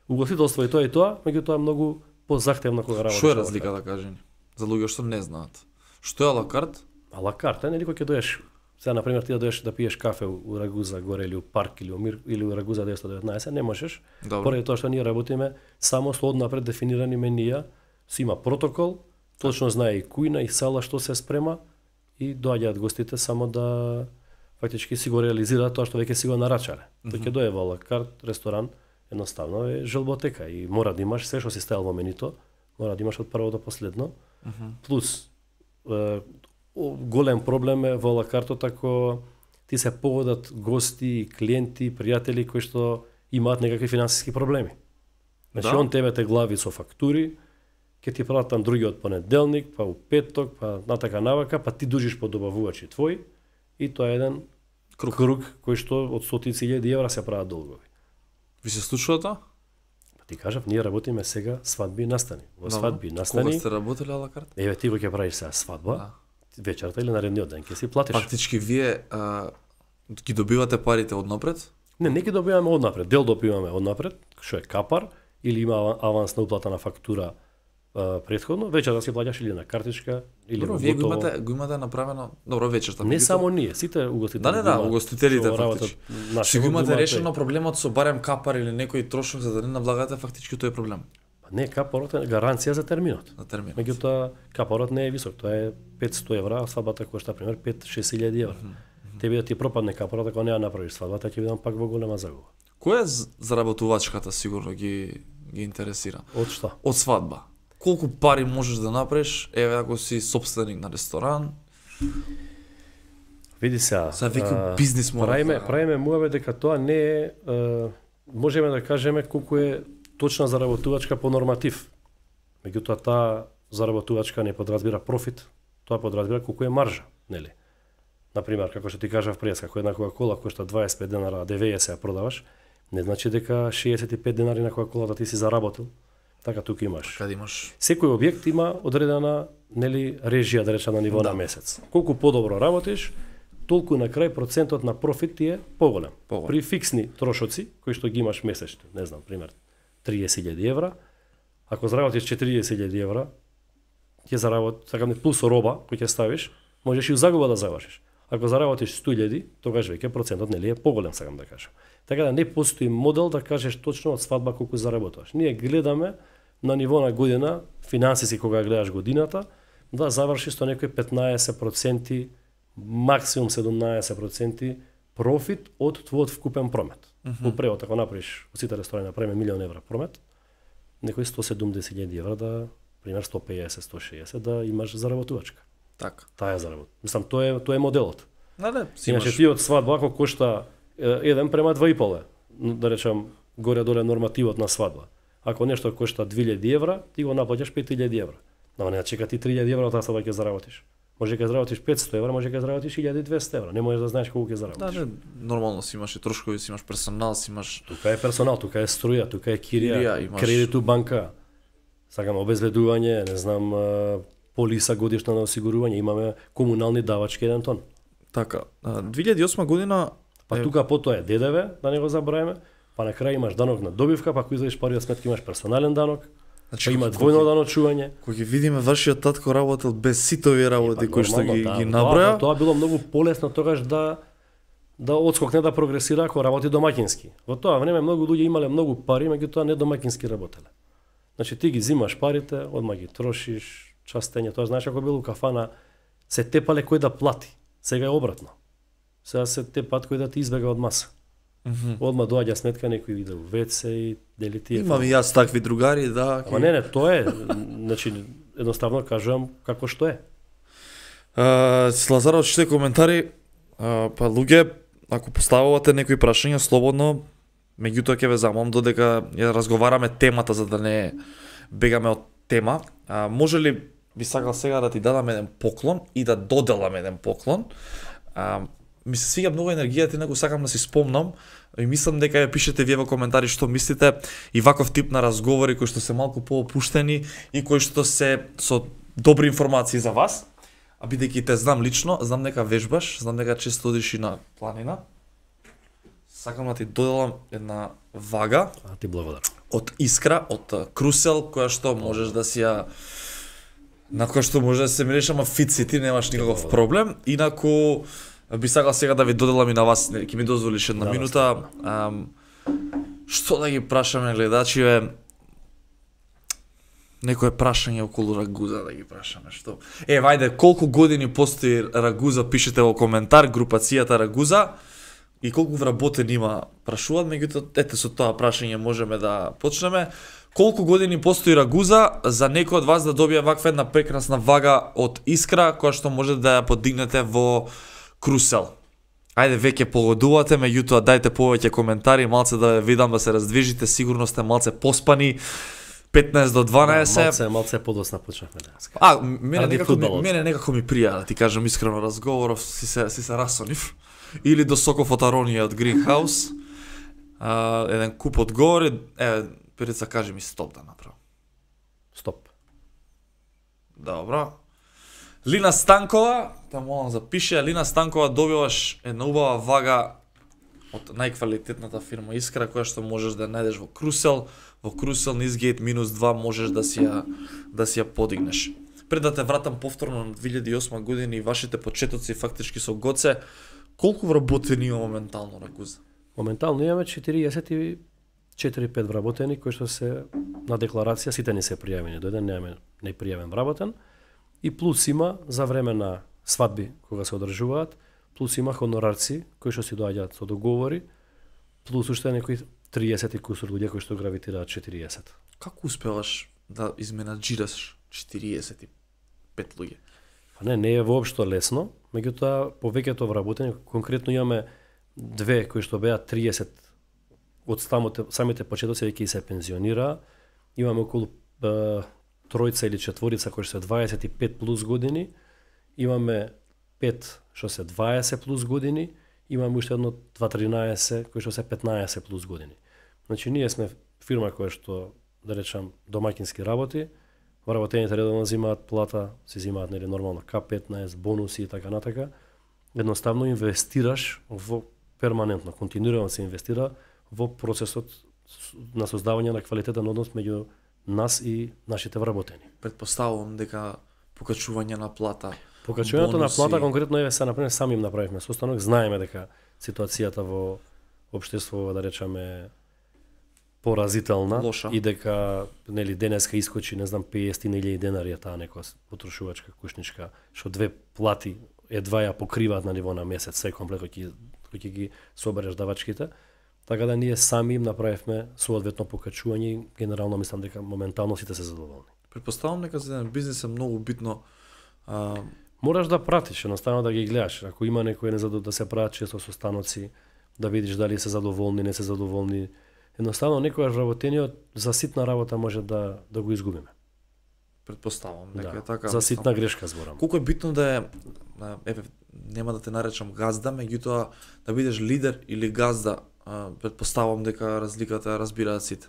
угостителство и тоа, меѓутоа многу позахтевно кога работиш. Што е разликата, кажи ни? За луѓе што не знаат. Што е ала карт? Ала карт, нели кога ќе доеш, сега на пример ти да доеш да пиеш кафе у Рагуза горе или у Парк или у Мир или у Рагуза 919, не можеш. Поради тоа што ние работиме само со однапред дефинирани менија, си има протокол, точно знае и кујна и сала што се спрема и доаѓаат гостите само да фактички си го реализираат тоа што веќе си го нарачале. Тој ќе дое во ала карт ресторан, едноставно е желботека и мора да имаш се што си ставил во менито, мора да имаш од прво до последно. Плюс голем проблем е во лакартот ако ти се поводат гости, клиенти, пријатели кои што имаат некакви финансиски проблеми. Значи он тебе те глави со фактури, ќе ти пратам другиот понеделник, па у петок, па натака навака, па ти дужиш по добавувачи твои и тоа е еден круг кој што од стотици илјади евра се прават долгови. Ви се случува тоа? Ти кажав, ние работиме сега свадби и настани. Во свадби и настани. Кога сте работеле ала карт? Еве ти го ќе правиш сега свадба. Вечерта или наредниот ден ќе си платиш. Фактички вие ги добивате парите однапред? Не ги добиваме однапред. Дел добиваме однапред, што е капар или има авансна уплата на фактура претходно, вечерта си плаќаш или на картичка или во готово. Вие го имате направено, добро вечерта. Не само ние, сите угостители. Да, угостителите фактички. Си го имате решено тој. проблемот со барем капар или некој трошок за да не навлагате фактички тој проблем. Не, капарот е гаранција за терминот. За терминот. Меѓутоа капарот не е висок, тоа е 500 евра, а свадбата кошта пример 5-6 илјади евра. Тебе да ти пропадне капарот ако не ја направиш свадбата, ќе бидам пак во голема загуба. Која е заработувачката сигурно ги интересира? Од што? Од свадба. Колку пари можеш да направиш, еве ако си собственик на ресторан? Види сега. За веќе бизнис мора. Правиме муаве дека тоа не е, можеме да кажеме колку е точна заработувачка по норматив. Меѓутоа таа заработувачка не подразбира профит, тоа подразбира колку е маржа, нели? Например, како што ти кажав пред, како една Кока-кола кошта 25 денари, а 90 ја продаваш, не значи дека 65 денари на Кока-кола да ти си заработил. Така тука имаш. Каде имаш? Секој објект има одредена, нели, режија да речам на ниво на месец. Колку подобро работиш, толку на крај процентот на профит ти е поголем. При фиксни трошоци кои што ги имаш месечно, не знам, пример 30.000 евра, ако заработиш 40.000 евра, ќе заработиш, сакам плюс роба кој ќе ставиш, можеш и у загуба да завршиш. Ако заработиш 100.000, тогаш веќе процентот нели е поголем, сакам да кажам. Така да не постои модел да кажеш точно од свадба колку заработуваш. Ние гледаме на ниво на година, финансиски кога гледаш годината, да завршиш со некои 15% максимум 17% профит од твојот вкупен промет. Во превод, ако направиш од сите ресторани направиме €1.000.000 промет, некои 170.000 евра да, пример 150-160 да имаш заработувачка. Така. Таа е заработка. Мислам, тоа е моделот. Да, Иначе ти од свадба ако кошта 1:2,5, да речам горе-доле нормативот на свадба. Ако нешто кошта 2.000 евра, ти го наплаќаш 5.000 евра. Но не чека ти 3.000 евра од таа свадба ќе заработиш. Може ќе заработиш 500 евра, може ќе заработиш 1.200 евра. Не можеш да знаеш колку ќе заработиш. Да, нормално си имаш и трошкови, си имаш персонал, си имаш... Тука е персонал, тука е струја, тука е кирија, имаш... кредит у банка. Сакам обезбедување, не знам, полиса годишна на осигурување, имаме комунални давачки 1 тон. Така, 2008 година... Па тука потоа е ДДВ, да не го забравиме, па на крај имаш данок на добивка, па ако излезеш пари од сметка имаш персонален данок, значи, па има двојно даночување. Кога ќе видиме вашиот татко работел без сите овие работи кои што ги наброја. Тоа било многу полесно тогаш да одскокне да прогресира ако работи домаќински. Во тоа време многу луѓе имале многу пари, меѓутоа не домаќински работеле. Значи ти ги зимаш парите, одма ги трошиш, частење, тоа знаеш ако бил у кафана се тепале кој да плати. Сега е обратно. Сега се тепат кој да ти избега од маса. Одма доаѓа сметка, некој иде у WC и дели тие. Имам и јас такви другари, да. Ама не, тоа е, значи едноставно кажувам како што е. Лазаров чите коментари, па луѓе, ако поставувате некои прашања слободно, меѓутоа ќе ве замолам додека ја разговараме темата за да не бегаме од тема. Може ли би сакал сега да ти дадам еден поклон и да доделам еден поклон? Ми се свиѓа многу енергијата и него сакам да си спомнам и мислам дека ја пишете вие во коментари што мислите и ваков тип на разговори кои што се малку поопуштени и кои што се со добри информации за вас. А бидејќи те знам лично, знам дека вежбаш, знам дека често одиш и на планина. Сакам да ти доделам една вага. Ти благодарам. Од Искра, од Крусел, која што можеш да си ја на која што може да се мириш, ама фит си ти, немаш никаков проблем. Инаку би сакал сега да ви доделам и на вас, ќе ми дозволиш една минута. Што да ги прашаме гледачиве? Некое прашање околу рагуза да ги прашаме, што? Вајде, колку години постои рагуза, пишете во коментар, групацијата рагуза, и колку вработен има, прашуваат, меѓутоа, ете со тоа прашање можеме да почнеме. Колку години постои рагуза за некој од вас да добие ваква една прекрасна вага од Искра, која што може да ја подигнете во Крусел? Ајде, веќе погодувате, меѓутоа дајте повеќе коментари, малце да видам да се раздвижите, сигурно сте малце поспани. 15 до 12. Малце подосна почнавме денес. Мене некако ми прија, да ти кажам искрено, разговоров си се расонив. Или до соков од аронија од Greenhouse. Еден куп одговори, Перица, кажи ми стоп да направам. Стоп. Добро. Лина Станкова, да молам запише, Лина Станкова, добиваш една убава вага од најквалитетната фирма Искра, која што можеш да најдеш во Крусел. Во Крусел низгейт -2 можеш да си ја подигнеш. Пред да те вратам повторно на 2008 година и вашите почетоци фактички со Гоце, колку вработени има моментално рагуза? Моментално имаме 44-5 вработени кои што се на декларација, сите не се пријавени до еден, немаме непријавен вработен. И плюс има за време на свадби кога се одржуваат, плюс има хонорарци кои што си доаѓаат со договори, плюс уште некои 30 и кусур луѓе кои што гравитираат 40. Како успеваш да изменаџираш 45 луѓе? Па не е воопшто лесно, меѓутоа повеќето вработени, конкретно имаме две кои што беа 30 од самите почетоци веќе се пензионираа. Имаме околу тројца или четворица кои што се 25 плюс години. Имаме 5 што се 20 плюс години. Имаме уште едно 2-13 кои што се 15 плюс години. Значи ние сме фирма која што, да речам, домаќински работи. Вработените редовно взимаат плата, си взимаат нели нормално К15, бонуси и така натака. Едноставно инвестираш во перманентно, континуирано се инвестира во процесот на создавање на квалитетен однос меѓу нас и нашите вработени. Предпоставувам дека покачување на плата. Покачувањето на плата конкретно е се например сами им направивме состанок, знаеме дека ситуацијата во општеството, да речеме, поразителна. Лоша. И дека нели денеска искочи, не знам, 50.000 денари е таа некоја потрошувачка кушничка, што две плати едва ја покриваат на ниво на месец се комплет кој ќе ги собереш давачките. Така да ние сами им направивме соодветно покачување и генерално мислам дека моментално сите се задоволни. Претпоставам дека за еден бизнис е многу битно Мораш да пратиш, едноставно да ги гледаш. Ако има некој да се прават често состаноци, да видиш дали се задоволни, не се задоволни. Едноставно некојаш вработениот за ситна работа може да го изгубиме. Претпоставам дека е така. За ситна грешка зборам. Колку е битно да е нема да те наречам газда, меѓутоа да бидеш лидер или газда, претпоставам дека разликата ја разбираат сите.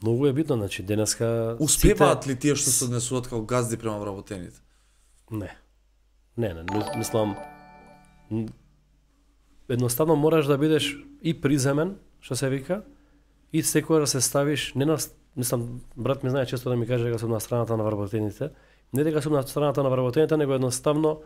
Многу е битно, значи денеска успеваат ли тие што се однесуваат како газди према вработените? Не, мислам едноставно мораш да бидеш и приземен, што се вика, и секој да се ставиш не на, мислам, брат ми знае често да ми каже дека сум на страната на вработените, не дека сум на страната на вработените, него едноставно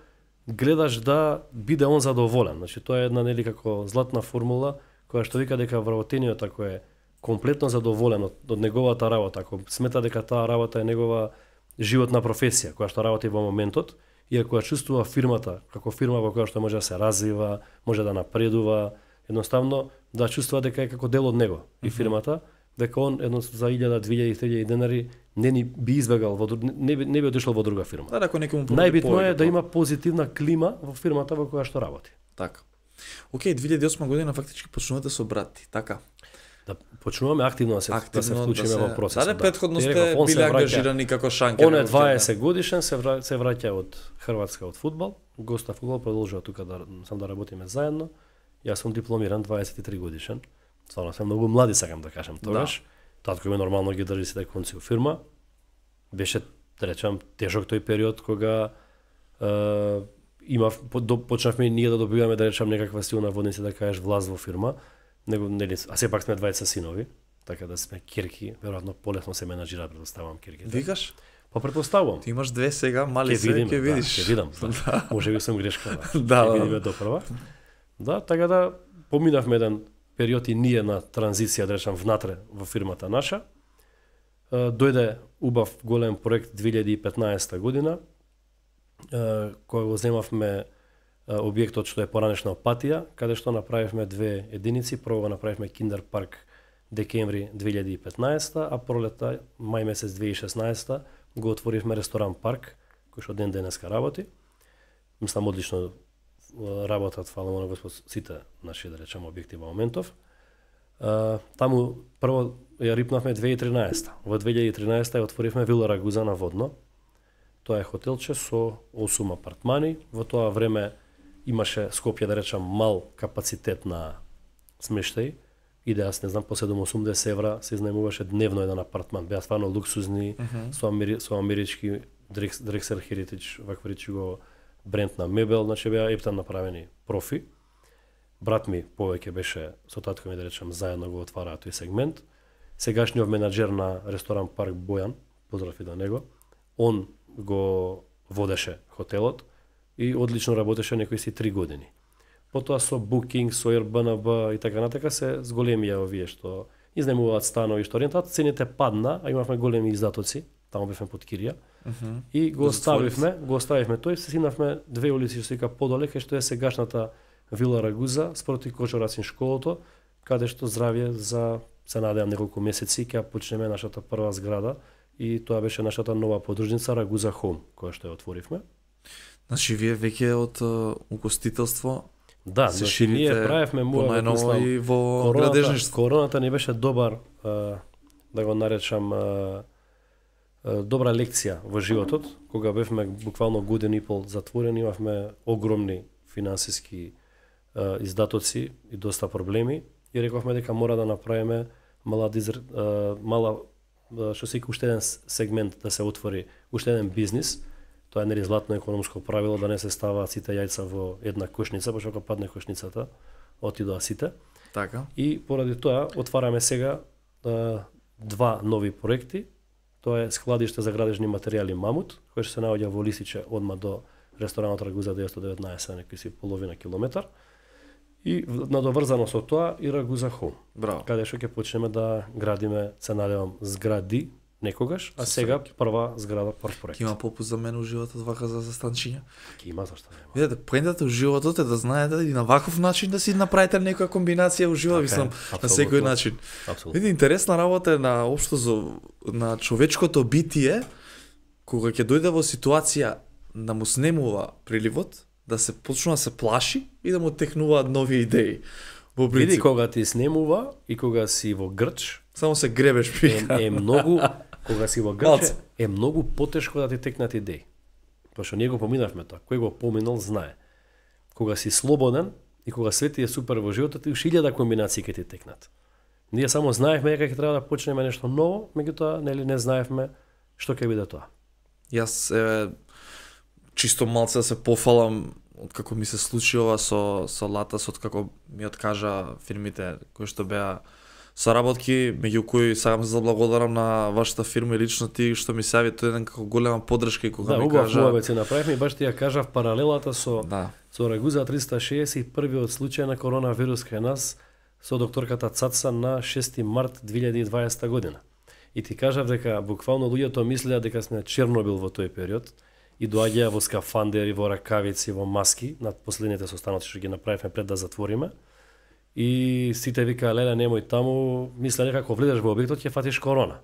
гледаш да биде он задоволен. Значи тоа е една нели како златна формула која што вика дека вработениот ако е комплетно задоволен од неговата работа, ако смета дека таа работа е негова животна професија, која што работи во моментот, и ако ја чувствува фирмата како фирма во која што може да се развива, може да напредува, едноставно да чувствува дека е како дел од него и фирмата, дека он едно за 1000, 2000, 3000 денари не би избегал не би отишол во друга фирма. Да, ако некому најбитно е да има позитивна клима во фирмата во која што работи. Така. Океј, 2008 година фактички почнувате со брати, така. Да почнуваме активно да се вклучиме во процесот. Да, претходно сте биле ангажирани како шанкер. Он е 20 годишен, се враќа од Хрватска од фудбал, Госта фудбал продолжува тука да работиме заедно. Јас сум дипломиран 23 годишен. Стварно сум многу млади, сакам да кажам тогаш. Татко ми нормално ги држи сите конци во фирма. Беше, да речам, тежок тој период кога почнавме ние да добиваме, да речам, некаква силна водница, да кажеш, власт во фирма. А сепак сме двајца синови, така да сме кирки, веројатно полесно се менаџираат, предпоставувам кирките. Викаш? Па предпоставувам. Ти имаш две сега, мали се, ќе видиш. Ќе видам. Може би сум грешка. Да, видиме допрва. Да, така да поминавме еден период и ние на транзиција, да речам, внатре во фирмата наша. Дојде убав голем проект 2015 година, кој го земавме објектот што е поранешна Опатија, каде што направивме две единици. Прво го направивме Киндер парк декември 2015, а пролета, мај месец 2016, го отворивме ресторан парк, кој што ден денеска работи. Мислам, одлично работат, фала на Господ, сите наши, да речем, објекти во моментов. Таму прво ја рипнавме 2013. Во 2013 ја отворивме Вила Рагуза на Водно. Тоа е хотелче со 8 апартмани. Во тоа време имаше Скопје, да речам, мал капацитет на смештај. Иде, аз не знам, по 780 евра се изнајмуваше дневно еден апартман. Беа стварно луксузни, со амерички Drexel Heritage, вакваричиго бренд на мебел, значи беа ептан направени профи. Брат ми повеќе беше со татко ми, да речем, заедно го отвараа тој сегмент. Сегашниот менаџер на ресторан парк Бојан, поздрав и до него, он го водеше хотелот и одлично работеше некои си 3 години. Потоа со Booking, со Airbnb и така натака се зголемија овие што изнајмуваат станови, што рентат, цените падна, а имавме големи издатоци, таму бевме под кирија. И го оставивме тој, се симнавме две улици што вика подоле, кај што е сегашната Вила Рагуза, спроти Кочурацин школото, каде што здравје за, се надевам, неколку месеци ќе почнеме нашата прва зграда и тоа беше нашата нова подружница Рагуза Home, која што ја отворивме. Значи вие веќе од угостителство да, значи ние правевме понајново и во градежништво. Короната ни беше добар, да го наречам, добра лекција во животот, кога бевме буквално година и пол затворени, имавме огромни финансиски издатоци и доста проблеми и рековме дека мора да направиме мала што се уште еден сегмент да се отвори, уште еден бизнис. Тоа е нели златно економско правило да не се ставаат сите јајца во една кошница, пошто кога падне кошницата, отидоа сите. Така. И поради тоа отвараме сега два нови проекти. Тоа е складиште за градежни материјали Мамут, кој што се наоѓа во Лисиче одма до ресторанот Рагуза 919, некој си половина километар. И надоврзано со тоа и Рагуза Home. Браво. Каде што ќе почнеме да градиме, се надевам, згради некогаш, а сега прва зграда, прв проект. Ќе има попуст за мене у животот вака за застанчиња. Ќе има, зашто нема. Видете, поентата у животот е да знаете и на ваков начин да си направите некоја комбинација у животот, мислам, на секој начин. Апсолутно. Види, интересна работа е на општо на човечкото битие, кога ќе дојде во ситуација да му снемува приливот, да се почнува да се плаши и да му текнуваат нови идеи. Во принцип, Види, кога ти снемува и кога си во грч, само се гребеш пика. е многу, кога си во грч, е многу потешко да ти текнат идеи. Пошто ние го поминавме тоа, кој го поминал знае. Кога си слободен и кога свети е супер во животот, ти уште 1000 комбинации ќе ти текнат. Ние само знаевме дека ќе треба да почнеме нешто ново, меѓутоа нели не знаевме што ќе биде тоа. Јас чисто малце да се пофалам од како ми се случи ова со Латасот, како ми откажа фирмите кои што беа соработки, меѓу кои сакам да заблагодарам на вашата фирма и лично ти што ми се јави тој еден како голема поддршка и кога ми кажа. Да, убав се направивме и баш ти ја кажав паралелата со Рагуза 361-виот случај на коронавирус кај нас со докторката Цаца на 6 март 2020 година. И ти кажав дека буквално луѓето мислеа дека сме Чернобил во тој период и доаѓаа во скафандери, во ракавици, во маски, над последните состаноци што ги направивме пред да затвориме. И сите викаа, леле, немој таму, мисля дека ако влезеш во објектот ќе фатиш корона.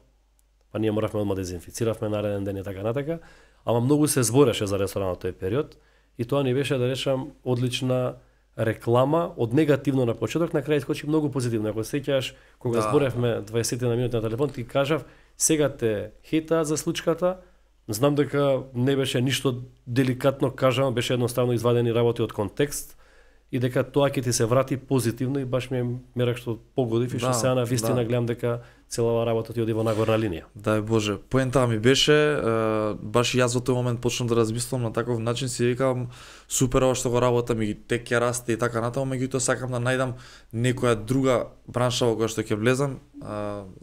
Па ние моравме одма дезинфициравме нареден ден и така натака, ама многу се збореше за ресторанот тој период и тоа ни беше, да речам, одлична реклама, од негативно на почеток, на крај искочи многу позитивно. Ако сеќаш, кога зборевме 20 на минути на телефон, ти кажав, сега те хейтаат за случката, знам дека не беше ништо деликатно кажано, беше едноставно извадени работи од контекст, и дека тоа ќе ти се врати позитивно и баш ми мерак што погодив и што сега на вистина гледам дека целава работа ти оди во нагорна линија. Дај Боже, поентава ми беше, баш и јас во тој момент почнам да размислам на таков начин, си викам супер ова што го работам и тек ќе расте и така натаму, меѓутоа сакам да најдам некоја друга бранша во која што ќе влезам.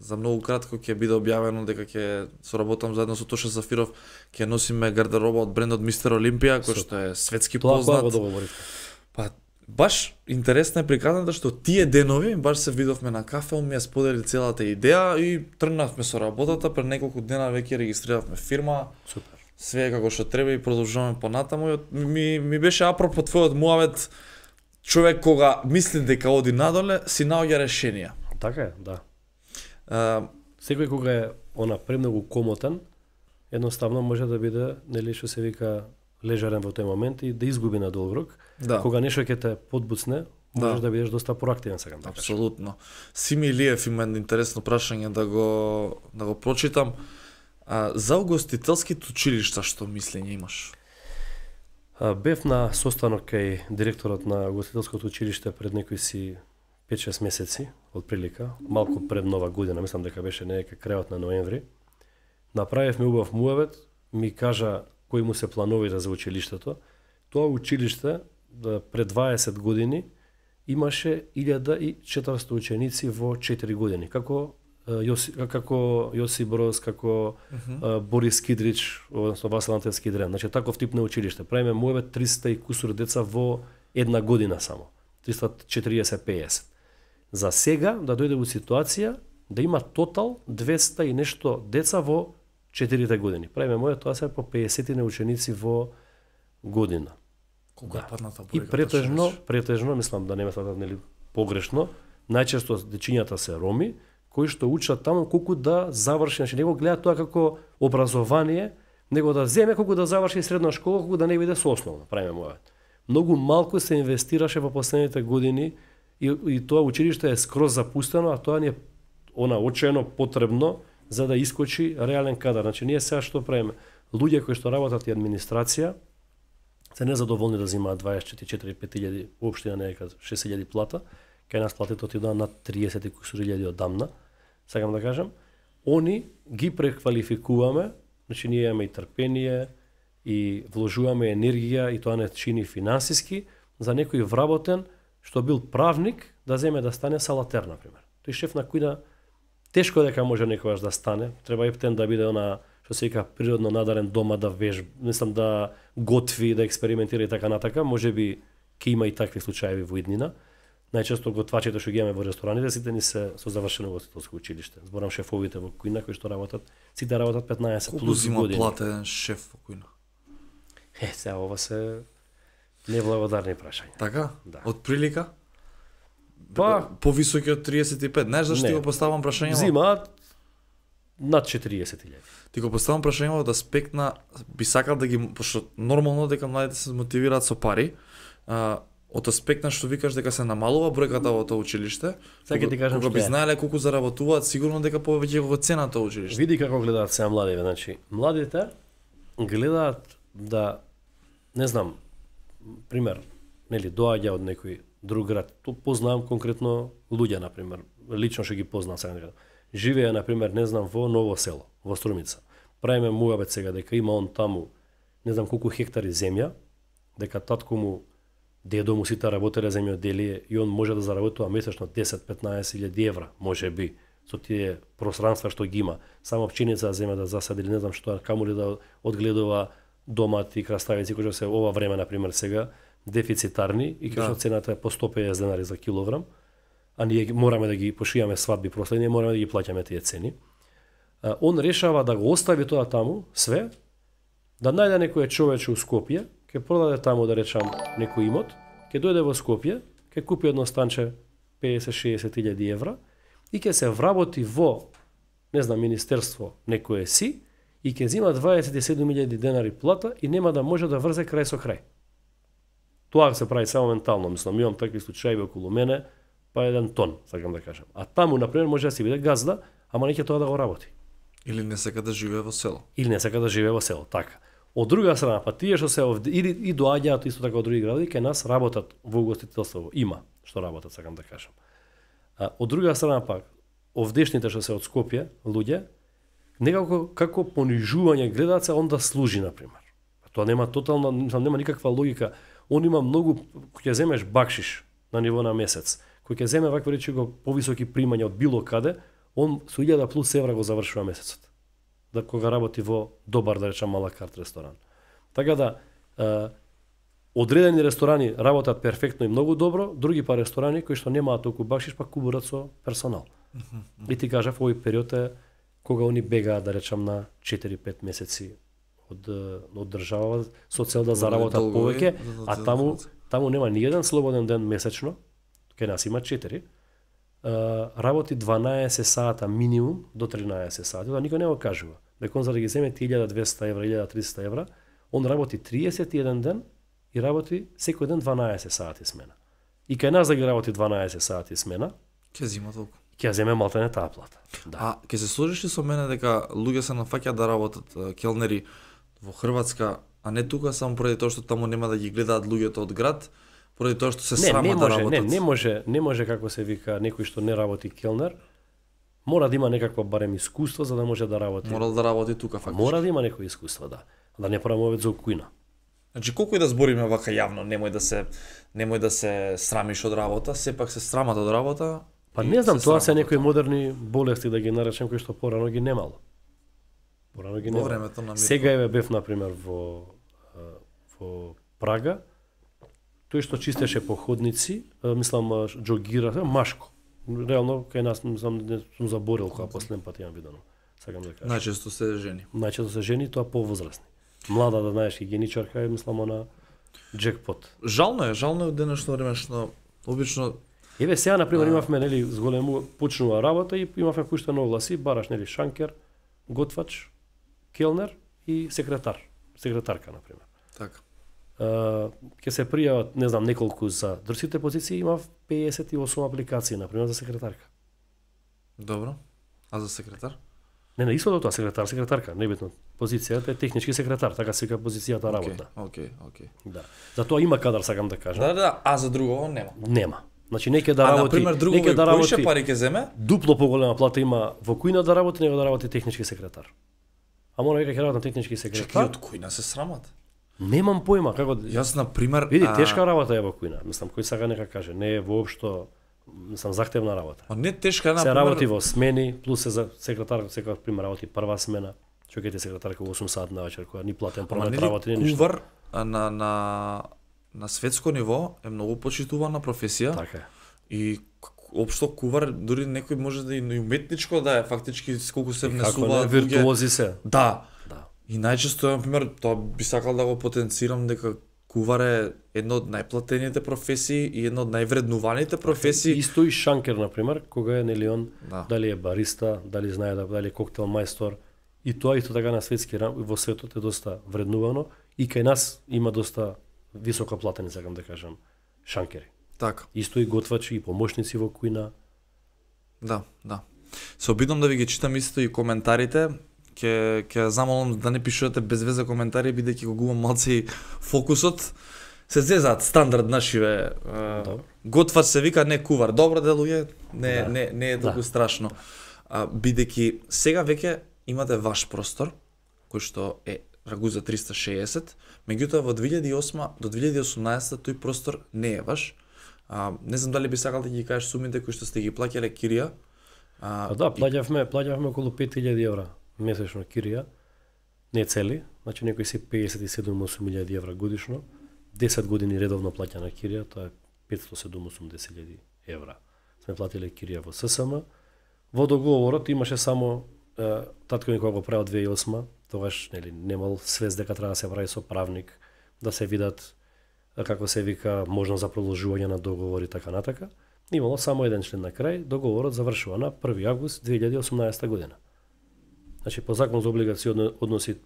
За многу кратко ќе биде објавено дека ќе соработам заедно со Тоша Зафиров, ќе носиме гардероба од брендот Мистер Олимпија, кој што е светски познат. Тоа го договорите. Па баш интересно е приказната што тие денови баш се видовме на кафе, он ми ја сподели целата идеја и тргнавме со работата, пред неколку дена веќе регистриравме фирма. Супер. Све како што треба и продолжуваме понатаму. Ми беше апропо твојот муавет, човек кога мисли дека оди надоле, си наоѓа решенија. Така е, да. Секој кога е премногу комотен, едноставно може да биде, нели што се вика, лежарен во тој момент и да изгуби на долг рок. Да. Кога нешто ќе те подбуцне, можеш да бидеш доста проактивен, сакам да кажам. Апсолутно. Сими Илиев има интересно прашање да го прочитам. За угостителските училишта што мислење имаш? Бев на состанок кај директорот на угостителското училиште пред некои си 5-6 месеци, од прилика, малку пред нова година, мислам дека беше некај крајот на ноември. Направивме убав муавет, ми кажа кои му се плановира за училиштето. Тоа училиште пред 20 години имаше 1400 ученици во 4 години. Како Јосип Broz, како Борис Кидрич, односно Васил Антевски Дрен. Значи таков тип на училиште. Правиме муаве 300 и кусур деца во една година само. 340-50. За сега да дојде во ситуација да има тотал 200 и нешто деца во 4 години. Правиме моја тоа се по 50 ученици во година. Колку е падната бројка? И претежно, мислам да не ме сватат нели погрешно, најчесто дечињата се роми кои што учат таму колку да заврши, значи него гледа тоа како образование, него да земе колку да заврши средна школа, колку да не биде со основна, правиме моја. Многу малку се инвестираше во последните години и тоа училиште е скроз запустено, а тоа ни е очено потребно за да искочи реален кадар. Значи ние сега што правиме? Луѓе кои што работат и администрација се незадоволни да земаат 24-5.000, општина некад 6.000 плата, кај нас платите отидоа над 30.000 одамна, сакам да кажам, они ги преквалификуваме, значи ние имаме и трпение, и вложуваме енергија, и тоа не чини финансиски, за некој вработен, што бил правник, да земе да стане салатер, например. Тој шеф на кујна тешко дека може некогаш да стане, треба ептен да биде што се вика природно надарен дома да мислам да готви, да експериментира и така натака, можеби ќе има и такви случаи во иднина, Најчесто готвачите што ги имаме во рестораните сите ни се со завршено ugostiteljско училиште. Зборам шефовите во кујна кои што работат, сите работат 15 Колку плюс зима години. плата еден шеф во кујна? Сега ова се неблагодарни прашања. Така? Да. Од прилика? Па, Повисоки од 35. Знаеш зашто Не. ти го поставам прашање? зимаат над 40.000. Ти го поставам прашање од аспект на би сакал да ги, пошто нормално дека младите се мотивираат со пари, од аспект на што викаш дека се намалува бројката во тоа училиште. Сега ти кажам кога што би е. знаеле колку заработуваат, сигурно дека повеќе го цена тоа училиште. Види како гледаат сега младите, значи младите гледаат да не знам, пример, нели доаѓа од некој друг град. Ту познавам конкретно луѓе на пример, лично што ги познавам сега некаде. Живеа на пример, не знам, во Ново село, во Струмица. Правиме муабет сега дека има он таму не знам колку хектари земја, дека татко му, дедо му сите работеле земјоделие и он може да заработува месечно 10-15 илјади евра, може би, со тие пространства што ги има. Само пченица земја да засади, или не знам што, камули да одгледува домати, краставици, кои што се ова време, например, сега, дефицитарни и кај што цената е по 150 денари за килограм, а ние мораме да ги пошијаме свадби проследни, мораме да ги плаќаме тие цени. Он решава да го остави тоа таму, све, да најде некој човече у Скопје, ќе продаде таму, да речам, некој имот, ќе дојде во Скопје, ќе купи едно станче 50-60 илјади евра и ќе се вработи во, не знам, министерство некое си и ќе зима 27.000 денари плата и нема да може да врзе крај со крај. Тоа се прави само ментално, мислам, имам такви случаи околу мене, па еден тон, сакам да кажам. А таму, например, може да си биде газда, ама не ќе тоа да го работи. Или не сака да живее во село. Или не сака да живее во село, така. Од друга страна, па тие што се овде, или и доаѓаат исто така од други градови, кај нас работат во угостителство, има што работат, сакам да кажам. Од друга страна пак, овдешните што се од Скопје, луѓе, некако како понижување гледаат се, он да служи, например. Тоа нема тотално, нема никаква логика. Он има многу, кој ќе земеш бакшиш на ниво на месец, кој ќе земе вакво речи го повисоки примања од било каде, он со 1000 плюс евра го завршува месецот. Да кога работи во добар, да речам, малакарт ресторан. Така да, одредени ресторани работат перфектно и многу добро, други па ресторани кои што немаат толку бакшиш, па кубурат со персонал. И ти кажав, овој период е кога они бегаат, да речам, на 4-5 месеци од држава со цел да заработат повеќе, а таму нема ни еден слободен ден месечно, кај нас има 4, работи 12 сата минимум до 13 сати, тоа никој не го кажува. Дека он за да ги земе 1200 евра, 1300 евра, он работи 31 ден и работи секој ден 12 сати смена. И кај нас да ги работи 12 сати смена, Ќе зима толку. ќе земе малтене таа плата. Да. А ќе се сложиш ли со мене дека луѓе се нафаќаат да работат келнери во Хрватска, а не тука само поради тоа што таму нема да ги гледаат луѓето од град, поради тоа што се срама да работат? Не може како се вика некој што не работи келнер, мора да има некакво барем искуство за да може да работи. Морал да работи тука фактично. Мора да има некој искуство, да. Да не правиме овој за кујна. Значи колку и да збориме вака јавно, немој да се срамиш од работа, сепак се срамат од работа. Па не знам, тоа се некои модерни болести да ги наречем кои што порано ги немало. Порано ги немало. Сега еве бев на пример во Прага. Тој што чистеше походници, мислам џогира, машко. Реално кај нас сум заборил кога последен пат имам видено. Сакам да кажам. Најчесто се жени. Најчесто се жени, тоа повозрасни. Млада, да знаеш, хигиеничарка е, мислам, она джекпот. Жално е од денешно време што обично. Еве сега на пример имавме нели зголему почнува работа и имавме пуштено огласи, бараш нели шанкер, готвач, келнер и секретарка на пример. Така. Ќе се пријават, не знам, неколку за дрсите позиции, имав 58 апликации на пример за секретарка. Добро. А за секретар? Не, исто тоа секретарка, небитно. Позицијата е технички секретар, така се вика позицијата работна. Океј. Да. За тоа има кадар, сакам да кажам. Да, а за друго нема. Нема. Значи неќе да работи, например, неќе да работи. Кој пари ќе земе? Дупло поголема плата има во кујна да работи, него да работи технички секретар. А мора века ќе работи на технички секретар. Чекај, од кујна се срамат? Немам појма како. Јас на пример, види, тешка работа е во кујна. Мислам, кој сака нека каже, не е воопшто, мислам, захтевна работа. А не тешка, на пример. Се работи во смени, плюс се за секретар, секој пример работи прва смена. Чекајте секретарка во 8 сат на вечер, која ни платен промет работи, ни ништо. Кувар на светско ниво е многу почитувана професија. Така е. И општо кувар дури некој може да и уметничко да е фактички колку се Како не, внесуваат виртуози се. Да. Да. И најчесто, например, тоа би сакал да го потенцирам дека кувар е една од најплатените професии и една од највреднуваните професии. Исто и шанкер, например, кога е нели он, Да. дали е бариста, дали знае дали е коктел мајстор, и тоа исто така на светски во светот е доста вреднувано и кај нас има доста високо платени, сакам да кажам, шанкери. Така. Исто и готвачи и помошници во кујна. Да, да. Се обидам да ви ги читам исто и коментарите. Ќе замолам да не пишувате без веза коментари, бидејќи го губам малце и фокусот. Се зезаат стандард нашиве. Готвач се вика, не кувар. Добро делује, не е толку страшно. Бидејќи сега веќе имате ваш простор, кој што е Рагуза 360, меѓутоа во 2008 до 2018 тој простор не е ваш. Не знам дали би сакал да ги кажеш сумите кои што сте ги плаќале кирија. Да, плаќавме околу 5000 евра месечно кирија, не цели, значи некои се 57-8 евра годишно, 10 години редовно плаќана кирија, тоа е 578 евра. Сме платиле кирија во ССМ. Во договорот имаше само татко ми кога го правил 2008, тогаш нели немал свест дека треба да се прави со правник, да се видат како се вика можност за продолжување на договори така натака. Имало само еден член на крај, договорот завршува на 1 август 2018 година. Значи по закон за облигациони односи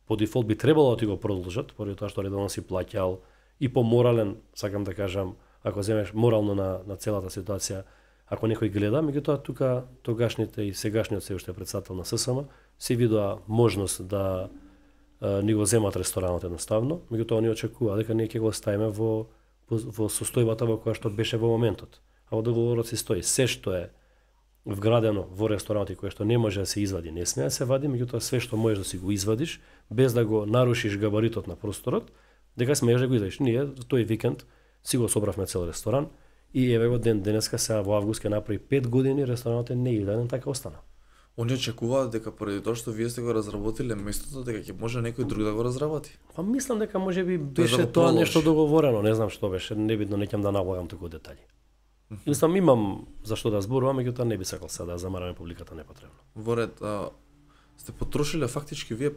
по дефолт би требало да ти го продолжат, поради тоа што редовно си плаќал и по морален, сакам да кажам, ако земеш морално на целата ситуација, ако некој гледа, меѓутоа тука тогашните и сегашниот се уште председател на ССМ си видоа можност да ни го земат ресторанот едноставно, меѓутоа они очекува дека ние ќе го ставиме во состојбата во која што беше во моментот. А во договорот се стои се што е вградено во ресторанот и кое што не може да се извади, не смее да се вади, меѓутоа све што можеш да си го извадиш без да го нарушиш габаритот на просторот, дека смееш да го извадиш. Ние тој викенд си го собравме цел ресторан и еве го денеска сега во август ќе направи 5 години ресторанот е неидеален, така остана. Они очекуваат дека поради тоа што вие сте го разработиле местото, дека ќе може некој друг да го разработи. Па мислам дека можеби беше да тоа нешто договорено, не знам што беше, небитно, не ќе да наблагам туку детали. Мислам имам за што да зборувам, меѓутоа не би сакал сега да замараме публиката непотребно. Во ред, сте потрошиле фактички вие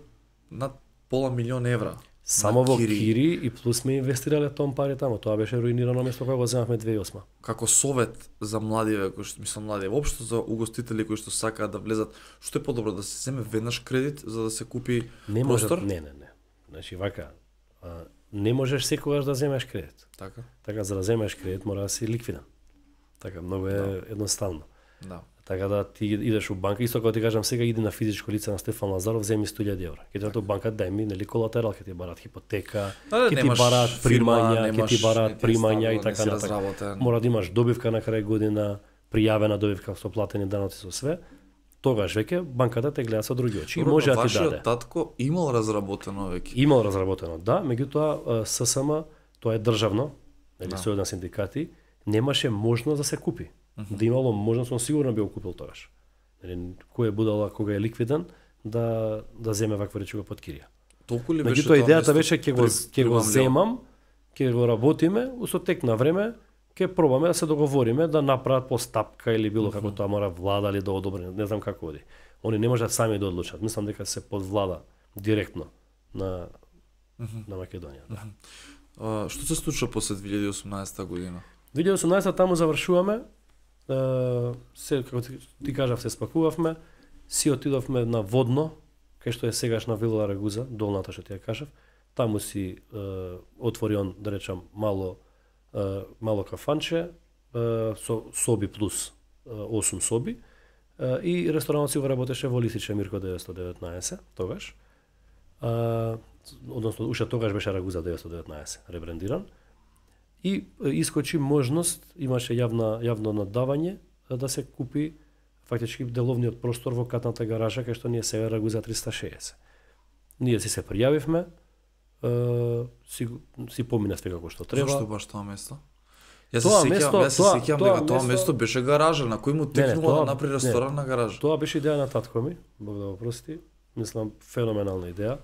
над пола милион евра. Само во кири и плюс сме инвестирале тон пари таму, тоа беше руинирано место кога го земавме 2008. Како совет за младиве кои што воопшто за угостители кои што сакаат да влезат, што е подобро да се земе веднаш кредит за да се купи простор? Не. Значи вака, не можеш секогаш да земеш кредит. Така за да земеш кредит мора да си ликвиден. Така многу е едноставно. Да. Така да ти идеш у банка, исто кога ти кажам сега иди на физичко лице на Стефан Лазаров, земи 100.000 евра. Ќе ти банка дај ми нели колатерал, ќе ти барат хипотека, ќе ти барат примања, и така натака. Мора да имаш добивка на крај година, пријавена добивка со платени даноци со све. Тогаш веќе банката те гледа со други очи и може да ти даде. Вашиот татко имал разработено веќе. Имал разработено, да, меѓутоа ССМ тоа е државно, нели сојуз на синдикати, немаше можност да се купи. Да имало можност, он сигурно би го купил тогаш. Кој е будала кога е ликвиден да земе ваква речига под кирија. Толку ли беше тоа? Меѓутоа идејата беше ќе го земам, ќе го работиме, со тек на време ќе пробаме да се договориме да направат постапка или било како тоа мора влада или да одобри, не знам како оди. Они не можат сами да одлучат. Мислам дека се под влада директно на Македонија. Да. Што се случува после 2018 година? 2018 таму завршуваме. Се, како ти кажав, се спакувавме, си отидовме на Водно, кај што е сегашна вила Рагуза, долната што ти ја кажав. Таму си отвори он, да речам, мало кафанче, со соби плюс 8 соби, и ресторанот си го работеше во Лисиче Мирко 919, тогаш. Односно, уште тогаш беше Рагуза 919, ребрендиран. И искочи можност, имаше јавно наддавање да се купи фактички деловниот простор во катната гаража кај што ние сега Рагуза 360. Ние си се пријавивме, си поминавме како што треба. Зошто баш тоа место? Јас се сеќавам дека тоа место беше гаража на кој му текнува да направи ресторан на гаража. Тоа беше идеја на татко ми, Бог да го прости. Мислам феноменална идеја.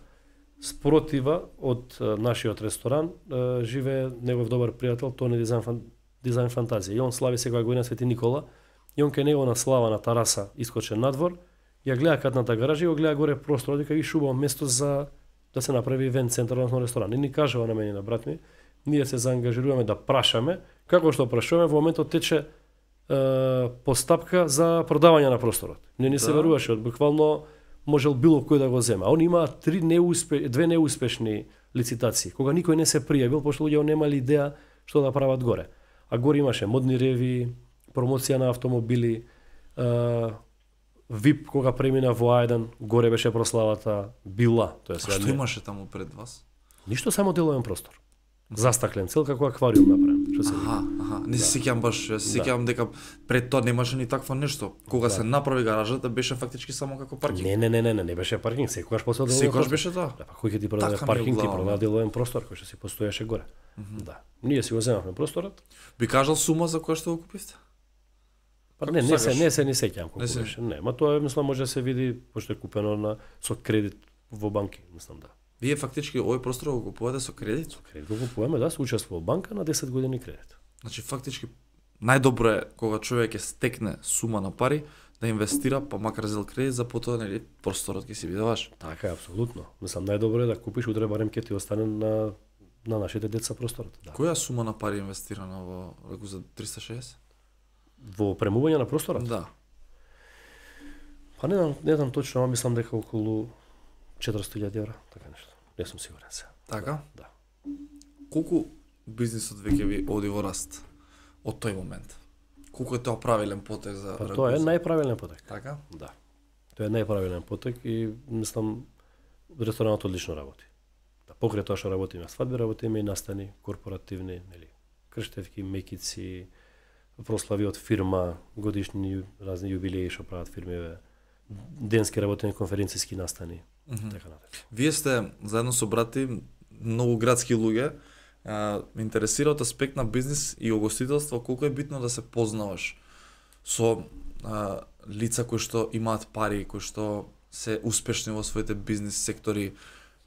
Спротива од нашиот ресторан живее негов добар пријател Тони Дизанфан дизајн фантазија. И он слави секоја година Свети Никола, и он кај него на слава на тараса искочен надвор, ја гледа катната гаража и го гледа горе простор, дека виш убаво место за да се направи ивент центар, односно ресторан. И ни кажува на мене и на брат ми, ние се заангажируваме да прашаме, како што прашуваме, во моментот тече постапка за продавање на просторот. Не се веруваше, буквално можел било кој да го земе. А они имаат две неуспешни лицитации, кога никој не се пријавил, пошто луѓе немале идеја што да прават горе. А горе имаше модни реви, промоција на автомобили, VIP кога премина во А1, горе беше прославата, била. А што имаше таму пред вас? Ништо, само деловен простор. Застаклен, цел како аквариум направен. Не се сеќавам баш, се сеќавам дека пред тоа немаше ни такво нешто. Кога се направи гаражата беше фактички само како паркинг. Не беше паркинг, секогаш после деловен. Секогаш беше тоа. Да, па кој ќе ти продаде паркинг, ти продаде деловен простор кој што си постоеше горе. Да. Ние си го земавме просторот. Би кажал сума за која што го купивте? Па не се ни сеќавам колку беше. Не, ма тоа мислам може да се види пошто е купено со кредит во банки, мислам да. Вие фактички овој простор го купувате со кредит? Со кредит го купуваме, да, се учествува во банка на 10 години кредит. Значи фактички најдобро е кога човек ќе стекне сума на пари да инвестира, па макар зел кредит за потоа нели просторот ќе си биде ваш. Така е, апсолутно. Мислам најдобро е да купиш утре барем ќе ти остане на нашите деца просторот, да. Која сума на пари инвестирана во реку за 360? Во премување на просторот? Да. Па не знам точно, мислам дека околу 400.000 евра, така нешто. Не сум сигурен се. Така? Да. Колку бизнисот веќе ви оди во раст од тој момент? Колку е тоа правилен потек за Па тоа е најправилен потек. Така? Да. Тоа е најправилен потек и мислам ресторанот одлично работи. Да, покрај тоа што работиме свадби, работиме и настани корпоративни, нели, крштевки, мекици, прослави од фирма, годишни разни јубилеи што прават фирмиве, денски работени конференцијски настани. Така натаму. Вие сте заедно со брати многу градски луѓе. Ме интересира од аспект на бизнис и угостителство колку е битно да се познаваш со лица кои што имаат пари, кои што се успешни во своите бизнис сектори,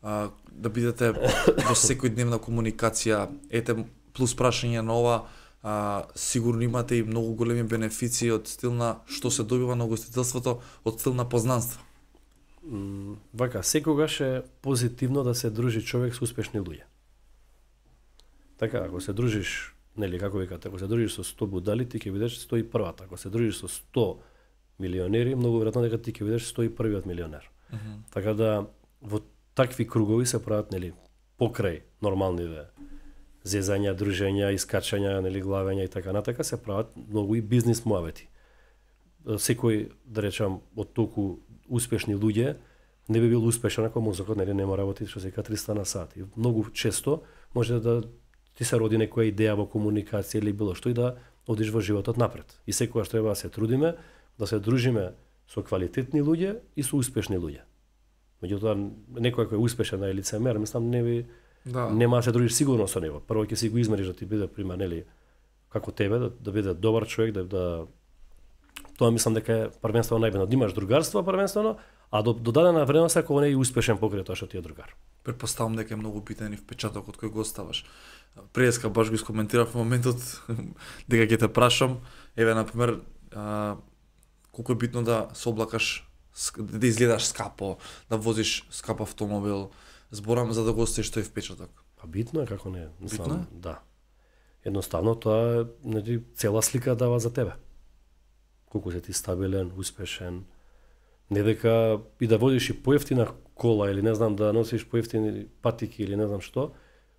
да бидете во секојдневна комуникација. Ете плюс прашање на ова, сигурно имате и многу големи бенефиции од стил на што се добива на угостителството, од стил на познанство. Вака, секогаш е позитивно да се дружи човек со успешни луѓе. Така, ако се дружиш, нели, како викате, ако се дружиш со 100 будали, ти ќе бидеш 101-та. Ако се дружиш со 100 милионери, многу веројатно дека ти ќе бидеш 101-виот милионер. Така да, во такви кругови се прават, нели, покрај нормалниве зезања, дружења, искачања, нели, главења и така натака, се прават многу и бизнис муавети. Секој, да речам, од толку успешни луѓе не би бил успешен ако мозокот нема работи што се ка 300 на сат. И многу често може да ти се роди некоја идеја во комуникација или било што и да одиш во животот напред. И секогаш треба да се трудиме да се дружиме со квалитетни луѓе и со успешни луѓе. Меѓутоа некој кој е успешен на лицемер, мислам нема да се дружиш сигурно со него. Прво ќе си го измериш да ти биде пример, нели, како тебе, да биде добар човек, да тоа мислам дека е првенствено најбитно. Да имаш другарство првенствено, а до дадена вредност ако не е успешен покрај тоа што ти е другар. Предпоставам дека е многу битен и впечатокот кој го оставаш. Преска баш го искоментирав во моментот дека ќе те прашам, еве на пример, колку е битно да се облакаш, да изгледаш скапо, да возиш скап автомобил, зборам за да го оставиш тој впечаток. Па битно е, како не, мислам, битно е? Да. Едноставно тоа е цела слика дава за тебе. Колку си ти стабилен, успешен, не дека и да водиш и поевтина кола или не знам да носиш поевтини патики или не знам што,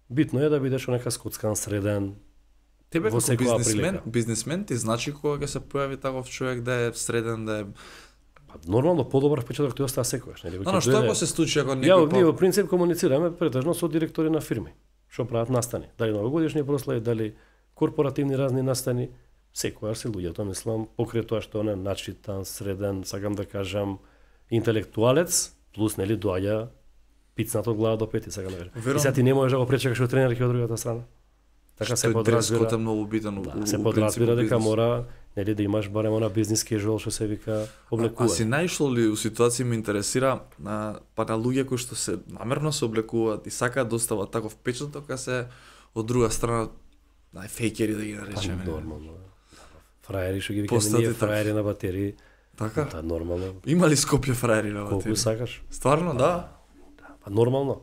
битно е да бидеш нека скоцкан, среден. Тебе како бизнисмен ти значи кога ќе се појави таков човек да е среден, да е нормално подобар впечаток тој остава секогаш, нели? Но што ако се случи ако некој ние во принцип комуницираме претежно со директори на фирми, што прават настани, дали новогодишни прослави, дали корпоративни разни настани. Секојаш се луѓето, мислам, покрај тоа што он е начитан, среден, сакам да кажам, интелектуалец, плюс, нели, доаѓа пицнато од глава до пети, сакам да кажам. И сега ти не можеш да го пречекаш од тренер од другата страна. Така се подразбира. Што е многу битен. Да, се подразбира дека мора, нели, да имаш барем она бизнис casual што се вика облекува. А си најшло ли у ситуација ме интересира па на луѓе кои што се намерно се облекуваат и сакаат да остават таков впечаток, а се од друга страна фейкери да ги наречеме. Нормално. Фраери што ги викаме Постати ние така. фраери на батерии. Така? Да, нормално. Има ли Скопје фраери на Колку батерија? сакаш? Стварно, да. Па нормално.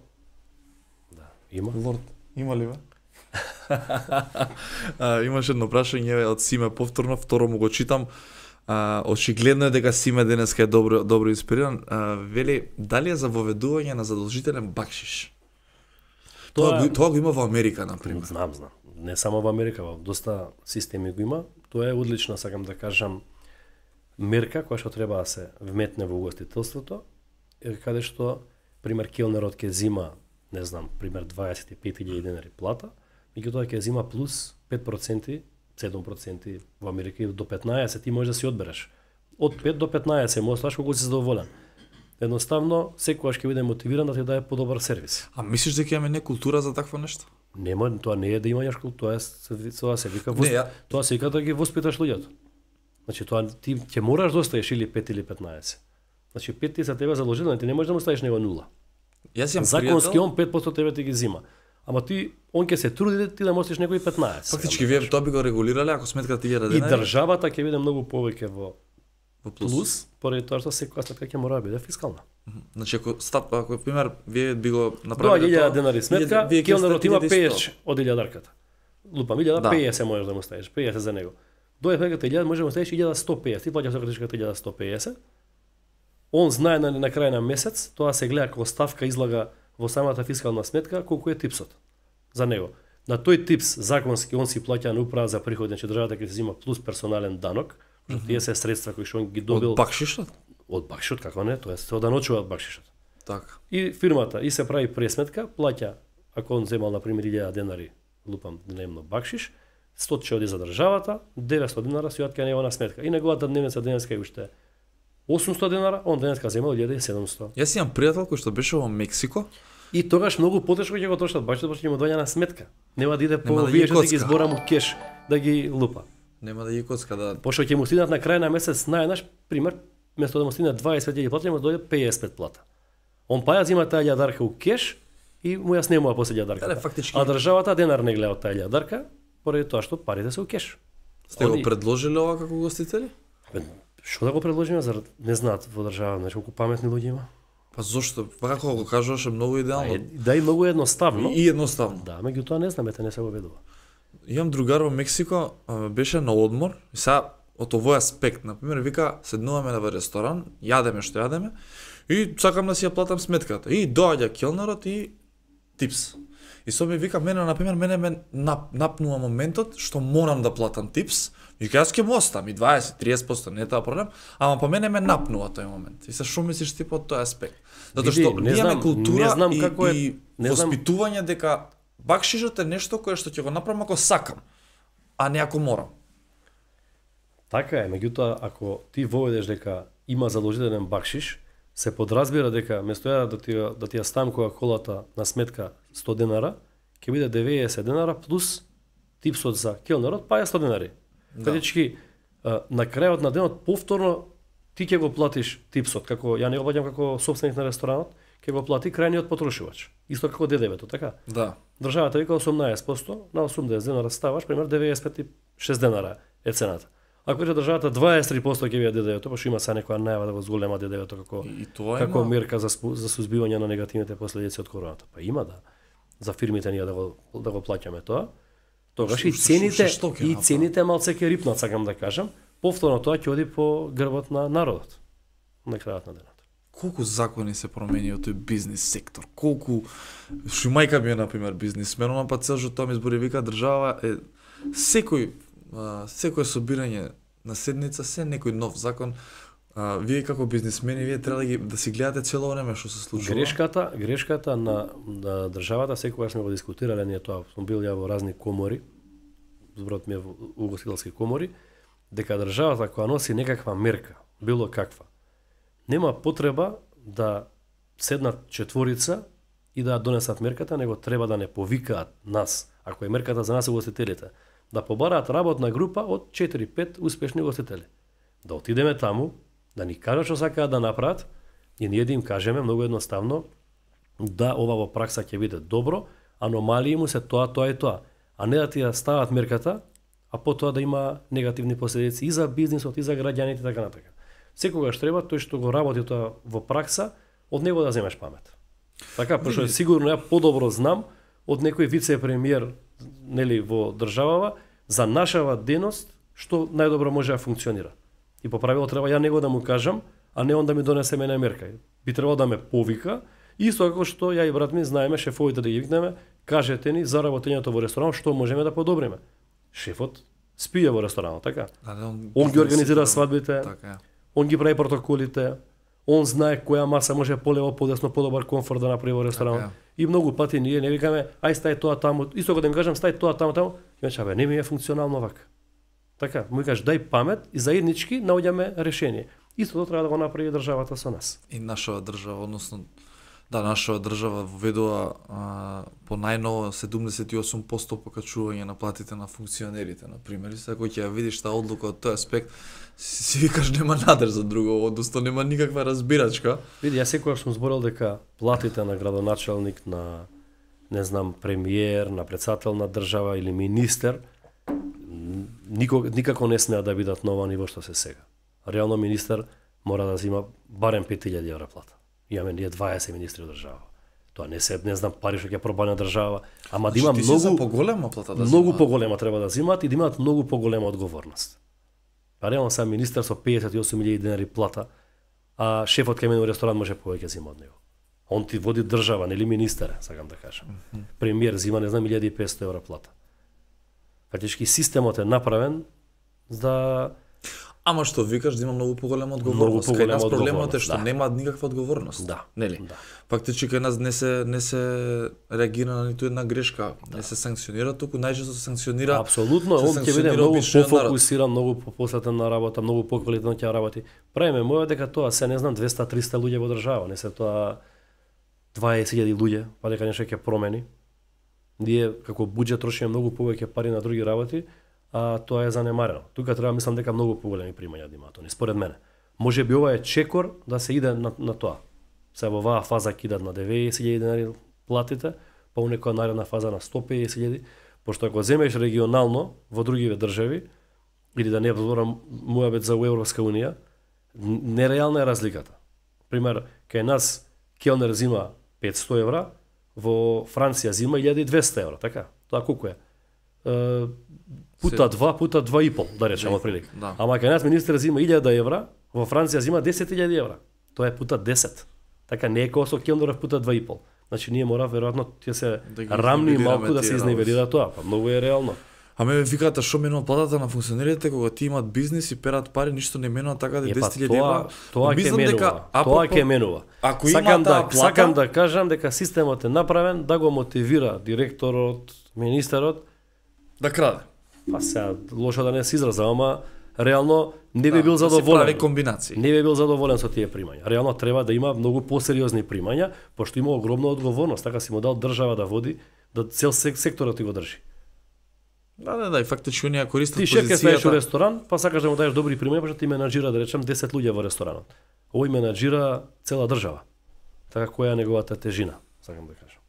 Да, има. Лорд, има ли бе? Имаше едно прашање од Симе повторно, второ му го читам. Очигледно е дека Симе денеска е добро инспириран. Вели, дали е за воведување на задолжителен бакшиш? Тоа го има во Америка, например. Знам. Не само во Америка, во доста системи го има. Тоа е одлична, сакам да кажам, мерка која што треба да се вметне во угостителството, каде што, пример, келнерот ќе зима, не знам, пример 25.000 денари плата, меѓутоа ќе зима плюс 5%, 7% во Америка и до 15% ти можеш да си одбереш. Од 5 до 15 можеш да колку си задоволен. Едноставно, секогаш ќе биде мотивиран да ти даде подобар сервис. А мислиш дека имаме не култура за такво нешто? Нема, тоа не е да имаш култура, тоа се вика тоа се вика да ги воспиташ луѓето. Значи тоа ти ќе мораш да оставиш или 5 или 15. Значи 5 ти за тебе задолжително, ти не можеш да му ставиш него 0. Јас имам законски пријател, он 5% тебе ти ги зима. Ама ти он ќе се труди ти да можеш некои 15. фактички вие тоа би го регулирале ако сметката 1000 И денари државата ќе биде многу повеќе во во плюс, поради тоа што секоја сметка ќе мора да биде фискална. Значи ако пример вие би го Доаѓа направиле 1000 денари сметка, вие ќе келнерот има оставите 50 од 1000-дарката. Лупам 1050 можеш да му ставиш, 50 за него. Доаѓа сметката 1000 можеш да му ставиш 1150, ти плаќаш картичката 1150. Он знае на крај на месец, тоа се гледа како ставка излага во самата фискална сметка колку е типсот за него. На тој типс законски он си плаќа на управа за приходи, значи државата ќе се зима плюс персонален данок, што тие се средства кои што он ги добил од бакшишот? од бакшишот, како не, тоа се оданочува од бакшишот. Така. И фирмата и се прави пресметка, плаќа ако он земал на пример 1000 денари, лупам дневно бакшиш, 100 ќе оди за државата, 900 денара си отка него на сметка. И неговата дневница денеска е уште 800 денара, он денеска земал 1700. Јас имам пријател кој што беше во Мексико. И тогаш многу потешко ќе го трошат бакшишот, пошто ќе му доаѓа на сметка. Нема да иде по Нема да вие ги што да ги коцка. збора му кеш да ги лупа. Нема да ги коцка да. Пошто ќе му стигнат на крај на месец најнаш пример, место да му стигне 25.000 плата, ќе му дојде 55 плата. Он паја зима таа 1000 дарка у кеш и му ја снемува после 1000 дарка. фактички. А државата денар не гледа од таа 1000 дарка, поради тоа што парите се у кеш. Сте го предложиле ова како гостители? Што да го предложиме, зар не знаат во држава, знаеш колку паметни луѓе има? Па зошто? Па како го кажуваш е многу идеално. Да и многу едноставно. И едноставно. Да, меѓутоа не знаме, не се го ведува. Имам другар во Мексико, беше на одмор, и сега од овој аспект, на пример, вика, седнуваме на ресторан, јадеме што јадеме, и сакам да си ја платам сметката. И доаѓа келнерот и типс. И со ми вика, мене ме напнува моментот што морам да платам типс, и јас ќе му оставам и 20-30%, не е тоа проблем, ама по мене ме напнува тој момент. И се што мислиш ти по тој аспект? Затоа што не имаме знам, култура не знам и, како е, и не знам. воспитување дека бакшишот е нешто кое што ќе го направам ако сакам, а не ако морам. Така е, меѓутоа ако ти воведеш дека има задолжителен бакшиш, се подразбира дека место да ти ја ставам кола-колата на сметка 100 денара, ќе биде 90 денара плюс типсот за келнерот, па ја 100 денари. Фактички на крајот на денот повторно ти ќе го платиш типсот, како ја не го плаќам како собственик на ресторанот, ќе го плати крајниот потрошувач. Исто како ДДВ-то, така? Да. Државата вика 18%, на 80 денара ставаш, пример 95,6 денара е цената. Ако рече државата 23% ќе биде ДДВ-то, пошто има са некоја најава да го зголема ДДВ-то како мерка за сузбивање на негативните последици од короната. Па има да. За фирмите ние да го плаќаме тоа. Тогаш и цените малце ќе рипнат, сакам да кажам. Повторно тоа ќе оди по грбот на народот на крајот на денот. Колку закони се промени од тој бизнис сектор? Колку што мајка ми е на пример бизнисмен, па цел тоа ми збори вика држава е секој собирање на седница се некој нов закон. Вие како бизнисмени вие треба да си гледате цело време што се случува. Грешката на државата секогаш сме го дискутирале ние тоа. Сум бил ја во разни комори, зборот ми е во угостителски комори, дека државата кога носи некаква мерка, било каква, нема потреба да седнат четворица и да донесат мерката, него треба да не повикаат нас, ако е мерката за нас угостителите, да побараат работна група од 4-5 успешни угостители. Да отидеме таму, да ни кажат што сакаат да направат и ние да им кажеме многу едноставно да ова во пракса ќе биде добро, аномалии му се тоа и тоа. а не да ти ја стават мерката, а потоа да има негативни последици и за бизнисот, и за граѓаните, така натака. Секогаш треба тој што го работи тоа во пракса, од него да земеш памет. Така, пошто сигурно ја подобро знам од некој вице-премиер, нели, во државава за нашава деност што најдобро може да функционира. И по правило треба ја него да му кажам, а не он да ми донесе мене мерка. Би требало да ме повика, исто како што ја и брат ми знаеме шефовите да ги викнеме, кажете ни за работењето во ресторан што можеме да подобриме. Шефот спие во ресторанот, така? Он ги организира свадбите, така. Он ги прави протоколите, он знае која маса може полево, подесно, подобар комфорт да направи во ресторанот. Така. И многу пати ние не викаме, ај стај тоа таму, исто кога да им кажам стај тоа таму, ќе не ми е функционално вака. Така, му кажеш дај памет и заеднички наоѓаме решение. Истото треба да го направи државата со нас. И нашава држава, односно нашава држава введува по најново 78% покачување на платите на функционерите, на пример. Сега кој ќе ја видиш таа одлука од тој аспект, си викаш нема надеж за друго, односно нема никаква разбирачка. Види, јас секогаш сум зборил дека платите на градоначалник, на не знам, премиер, на председател на држава или министер никако не смеа да бидат на ова ниво што се сега. Реално министер мора да зима барем 5000 евра плата. Имаме ние 20 министри од држава. Тоа не се, не знам, пари што ќе пробана држава, ама да има многу за поголема плата да многу поголема треба да зимаат и да имаат многу поголема одговорност. Па реално сам министер со 58.000 денари плата, а шефот кај мене во ресторан може повеќе зима од него. Он ти води држава, нели министер, сакам да кажам. Премиер зима, не знам, 1500 евра плата. Фактички системот е направен за Ама што викаш да има многу поголема одговорност. Кај нас проблемот е што да. Нема никаква одговорност. Да. Нели? Да. Фактички кај нас не се реагира на ниту една грешка, не се санкционира, туку најчесто се санкционира. Апсолутно, он ќе биде многу пофокусиран, многу посветен на работа, многу поквалитетно ќе работи. Правиме моја дека тоа се не знам 200-300 луѓе во држава, не се тоа 20.000 луѓе, па дека нешто ќе промени. Ние како буџет трошиме многу повеќе пари на други работи, а тоа е занемарено. Тука треба мислам дека многу поголеми примања да имаат они, според мене. Може би ова е чекор да се иде на тоа. Се во оваа фаза кидат на 90.000 денари платите, па у некоја наредна фаза на 150.000, пошто ако земеш регионално во другиве држави, или да не зборам муабет за Европска унија, нереална е разликата. Пример, кај нас келнер зима 500 евра, во Франција зима 1200 евра, така? Тоа колку е? Пута 2, пута 2,5, да речеме отприлика. Да. Ама кај нас министер зима 1000 евра, во Франција зима 10.000 евра. Тоа е пута 10. Така не е како со келнеров пута 2,5. Значи ние мора веројатно ќе се да рамни малку да се изневерира тоа, па многу е реално. А ме викате што менува платата на функционерите кога ти имаат бизнис и перат пари, ништо не менува така да 10.000 евра. Тоа ќе менува. Тоа ќе менува. Ако сакам сакам да кажам дека системот е направен да го мотивира директорот, министерот да краде. Па сега лошо да не се изразам, ама реално не би бил задоволен. Да се комбинации. Не би бил задоволен со тие примања. Реално треба да има многу посериозни примања, пошто има огромна одговорност, така си му дал држава да води, да цел секторот ти го држи. Да, и фактички оние користат позицијата. Ти шеф во ресторан, па сакаш да му даеш добри примања, пошто ти менаџира, да речем, 10 луѓе во ресторанот. Овој менаџира цела држава. Така која е неговата тежина, сакам да кажам.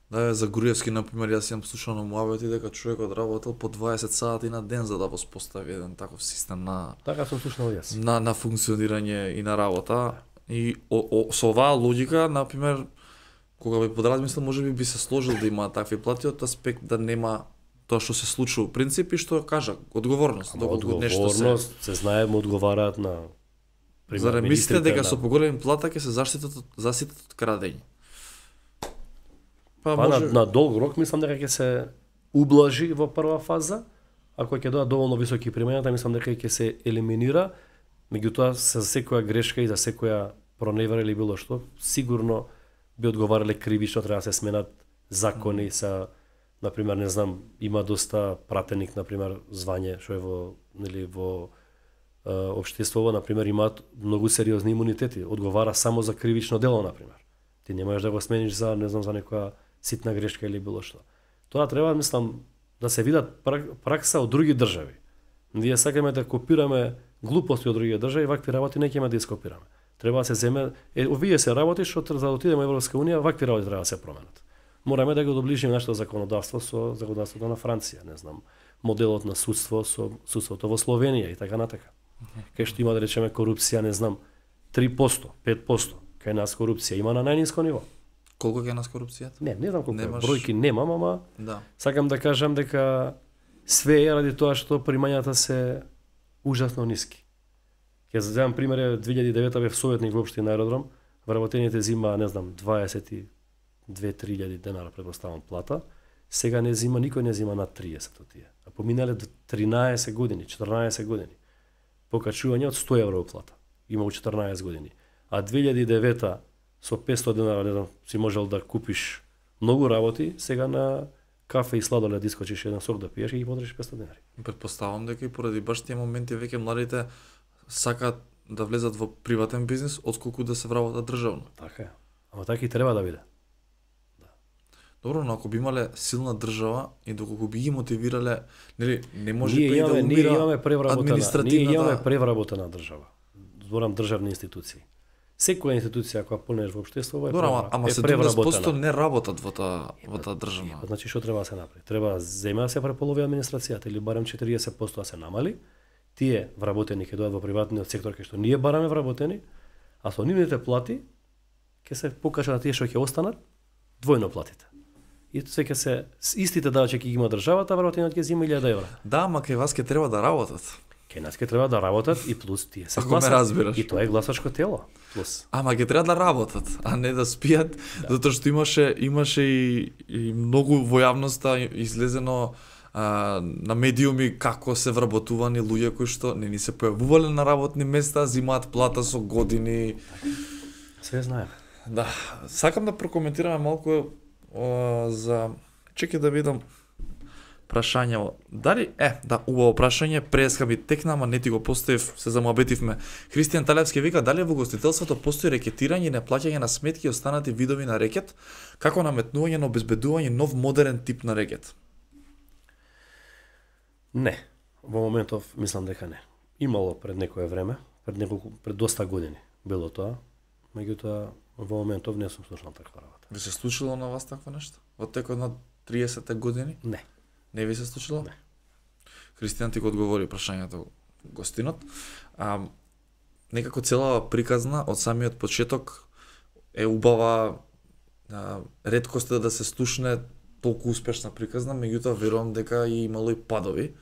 Да, за Груевски, например, јас имам слушал на муабети дека човекот работел по 20 сати на ден за да воспостави еден таков систем на така сум слушнал јас. На функционирање и на работа. И со оваа логика, например, кога би подразмислил, можеби би се сложил да има такви плати од аспект да нема тоа што се случува. Принципи што кажа, одговорност, доколку нешто се знае, му одговараат на пример. Зарем мислите дека со поголеми плата ќе се заштитат од крадење? Па на долг рок мислам дека ќе се ублажи во прва фаза, ако ќе додат доволно високи примања, мислам дека ќе се елиминира, меѓутоа за секоја грешка и за секоја проневера или било што, сигурно би одговарале кривично, треба да се сменат закони са, например, не знам, има доста пратеник, например, звање што е во општеството, например, имаат многу сериозни имунитети, одговара само за кривично дело, например. Ти не можеш да го смениш за, не знам, за некоја ситна грешка или било што. Тоа треба, мислам, да се видат пракса од други држави. Ние сакаме да копираме глупости од други држави, вакви работи не ќе да ископираме. Треба да се земе, овие се работи што за да отидеме во Европска унија, вакви работи треба да се променат. мораме да го доближиме нашето законодавство со законодавството на Франција, не знам, моделот на судство со судството во Словенија и така натака. Кај што има да речеме корупција, не знам, 3%, 5%, кај нас корупција има на најниско ниво. Колку е нас корупцијата? Не знам колку Немаш... бројки немам, ама да. Сакам да кажам дека све е ради тоа што примањата се ужасно ниски. Ќе земам пример, 2009 бев советник во општина Аеродром, вработените зима, не знам, 22-3 денари предпоставам плата, сега не зима, никој не зима над 30 од тие. А поминале 13 години, 14 години. Покачување од 100 евро плата. Има у 14 години. А 2009 со 500 денари, не знам, си можел да купиш многу работи, сега на кафе и сладолед искочиш еден сок да пиеш и ги потрошиш 500 денари. Претпоставам дека и поради баш тие моменти веќе младите сакаат да влезат во приватен бизнис отколку да се вработат државно. Така е. Ама така и треба да биде. Добро, но ако би имале силна држава и доколку би ги мотивирале, нели, не може ние да умира имаме превработена, ние имаме административната... превработена држава. Зборам државни институции. Секоја институција која понеш во општеството е Добро, ама 70% не работат во таа држава. Значи што треба да се направи? Треба зема да се преполови администрацијата или барем 40% да се намали. Тие вработени ќе дојдат во приватниот сектор кај што ние бараме вработени, а со нивните плати ќе се покажа на тие што ќе останат двојно платите. И се ќе се истите давачи ќе ги има државата, вработениот ќе зема 1000 евра. Да, ама кај вас ќе треба да работат. Кај нас ќе треба да работат и плюс тие се Ако ме разбираш. И тоа е гласачко тело. Плюс. Ама ќе треба да работат, а не да спијат, затоа што имаше и многу во јавноста излезено на медиуми како се вработувани луѓе кои што не ни се појавувале на работни места, зимаат плата со години. Све знаеме. Да, сакам да прокоментираме малку за чекај да видам прашање. Дали убаво прашање, преска би текна, ама не ти го поставив, се замуабетивме. Христијан Талевски вика дали во гостителството постои рекетирање и неплаќање на сметки и останати видови на рекет, како наметнување на обезбедување нов модерен тип на рекет. Не, во моментов мислам дека не. Имало пред некое време, пред доста години било тоа, меѓутоа во моментов не сум слушнал таква работа. Ви се случило на вас такво нешто? Во текот на 30 години? Не. Не ви се случило? Не. Христијан ти го одговори прашањето гостинот. Некако целава приказна од самиот почеток е убава, реткост е да се слушне толку успешна приказна, меѓутоа верувам дека и имало и падови.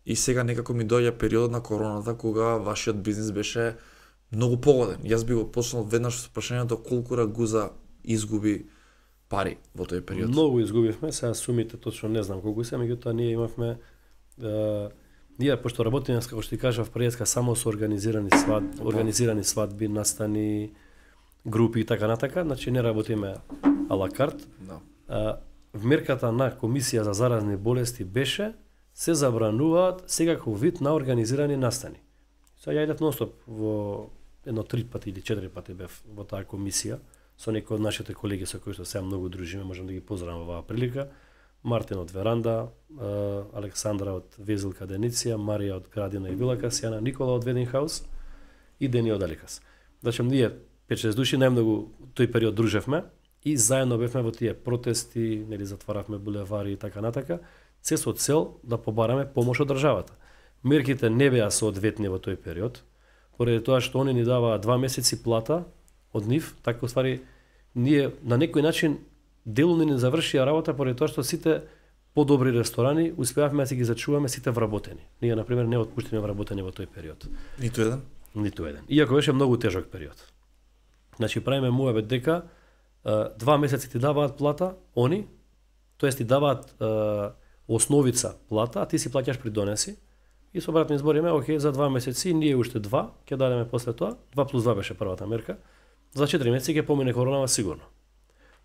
И сега некако ми доаѓа периодот на короната кога вашиот бизнис беше многу погоден. Јас би го почнал веднаш со прашањето колку Рагуза изгуби пари во тој период. Многу изгубивме, сега сумите точно не знам колку се, меѓутоа ние имавме ние пошто работиме, како што ти кажав, преска само со организирани свадби, настани, групи и така натака, значи не работиме ала карт. Да. Вмерката на Комисија за заразни болести беше се забрануваат секаков вид на организирани настани. Сега ја идев ностоп во едно 3 пати или 4 пати бев во таа комисија со некои од нашите колеги со кои што сега многу дружиме, можам да ги поздравам во оваа прилика. Мартин од Веранда, Александра од Везилка Дениција, Марија од Градина и Вилака, Сјана Никола од Вединхаус и Дени од Аликас. Значи ние 5-6 души најмногу тој период дружевме и заедно бевме во тие протести, нели затваравме булевари и така натака, се со цел да побараме помош од државата. Мерките не беа соодветни во тој период, поради тоа што они ни даваа 2 месеци плата од нив, така уствари ние на некој начин делумно не завршија работа поради тоа што сите подобри ресторани успеавме да си ги зачуваме сите вработени. Ние на пример не отпуштиме вработени во тој период. Ниту еден? Ниту еден. Иако беше многу тежок период. Значи правиме муабет дека 2 месеци ти даваат плата, они, тоест ти даваат основица плата, а ти си плаќаш при донеси. И со братни збориме, окей, за 2 месеци, ние уште 2, ќе дадеме после тоа, 2 плюс 2 беше првата мерка, за 4 месеци ќе помине коронава сигурно.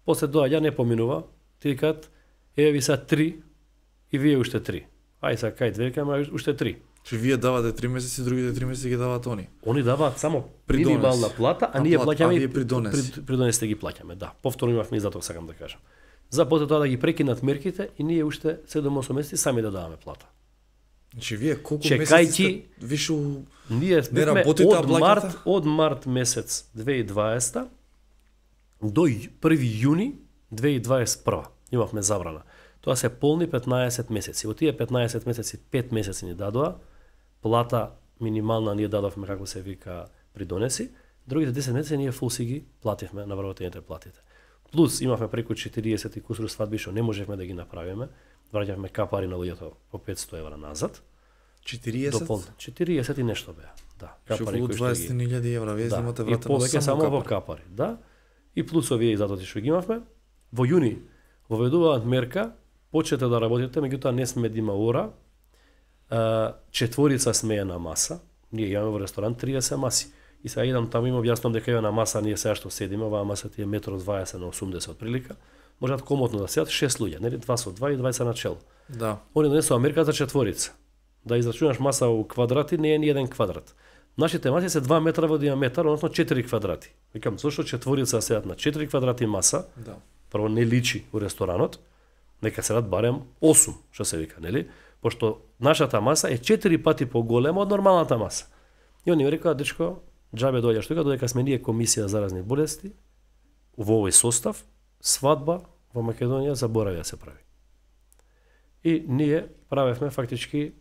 После доаѓа, не поминува, ти викаат, еве ви са 3 и вие уште 3. Ај са кај 2, ама уште 3. Че вие давате 3 месеци, другите 3 месеци ги даваат они. Они даваат само минимална плата, а ние плаќаме и при донесите ги плаќаме, да. Повторно имавме и затоа сакам да кажам. За после тоа да ги прекинат мерките и ние уште 7-8 месеци сами да даваме плата. Значи вие колку месеци сте више ние не работите, од март месец 2020 до 1 јуни 2021 имавме забрана. Тоа се полни 15 месеци. Во тие 15 месеци, 5 месеци ни дадоа, плата минимална ние дадовме, како се вика, придонеси, другите 10 месеци ние фул си ги плативме на вработените платите. Плюс имавме преку 40 и кусур свадби што не можевме да ги направиме, враќавме капари на луѓето по 500 евра назад. 40? 40 и нешто беа. Да, капари кои што 20.000 евра, вие имате вратено само капари. Само во капари, да. И плюс овие изdatоци што ги имавме. Во јуни воведуваат мерка, почнете да работите, меѓутоа не сме да има ора. Четворица сме на маса. Ние имаме во ресторан 30 маси. И сега идам таму им објаснам дека е на маса ние сега што седиме, оваа маса ти е 1,20 на 80 отприлика. Можат комотно да седат 6 луѓе, нели 2 со 2 и 20 на чело. Да. Они донесоа мерка за четворица. Да израчунаш маса у квадрати не е ни еден квадрат. Нашите маси се 2 метра во диаметар, односно 4 квадрати. Викам, зошто четворица седат на 4 квадрати маса? Да. Прво не личи у ресторанот, нека седат барем 8, што се вика, нели? Пошто нашата маса е 4 пати поголема од нормалната маса. И они ми рекоа, дечко, џабе доаѓаш тука, додека сме ние комисија за разни болести, во овој состав, свадба во Македонија заборави да се прави. И ние правевме фактички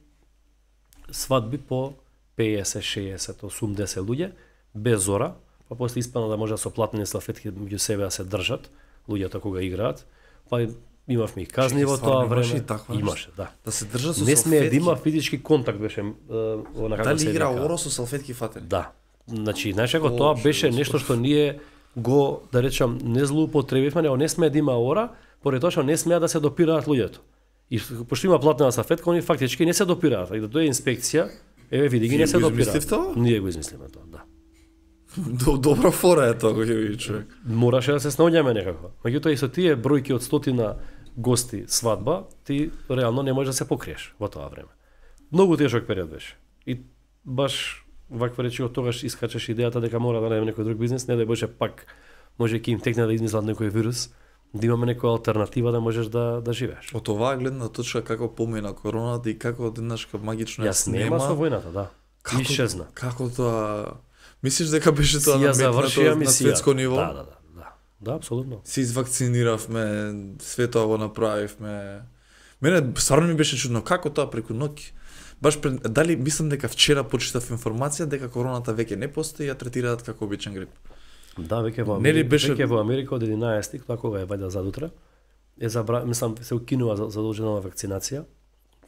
свадби по 50, 60, 80 луѓе, без зора, па после испадна да може да со платени салфетки меѓу себе да се држат, луѓето кога играат, па имавме и казни во тоа време. Имаше, да. Да се држат со салфетки. Не сме да има физички контакт беше онака како се игра оро со салфетки фатени. Да. Значи, знаеш како тоа беше нешто што ние го, да речам, не злоупотребивме, него не сме да има ора, поради тоа што не смеа да се допираат луѓето. И пошто има платена салфетка, они фактички не се допираат. И да дојде инспекција, еве види ги не се допираат. Ние го измислиме тоа, да. Добра фора е тоа, кој ви човек. Мораше да се снаоѓаме некако. Меѓутоа и со тие бројки од 100 гости свадба, ти реално не можеш да се покриеш во тоа време. Многу тешок период беше. И баш ваква речи од тогаш искачеш идејата дека мора да најдеме некој друг бизнес, не да беше пак може ќе им текне да измислат некој вирус, да имаме некоја алтернатива да можеш да живееш. Од оваа гледна точка како помина короната и како одеднаш магично ја снема со војната, да. Исчезна. Како тоа мислиш дека беше тоа на светско ниво? Да, апсолутно. Се извакциниравме, све тоа го направивме. Мене стварно ми беше чудно како тоа преку ноќ. Баш дали мислам дека вчера почитав информација дека короната веќе не постои, ја третираат како обичен грип. Да, веќе во Америка, веќе во Америка од 11 тоа кога е вајда задутра, мислам се укинува задолжена вакцинација.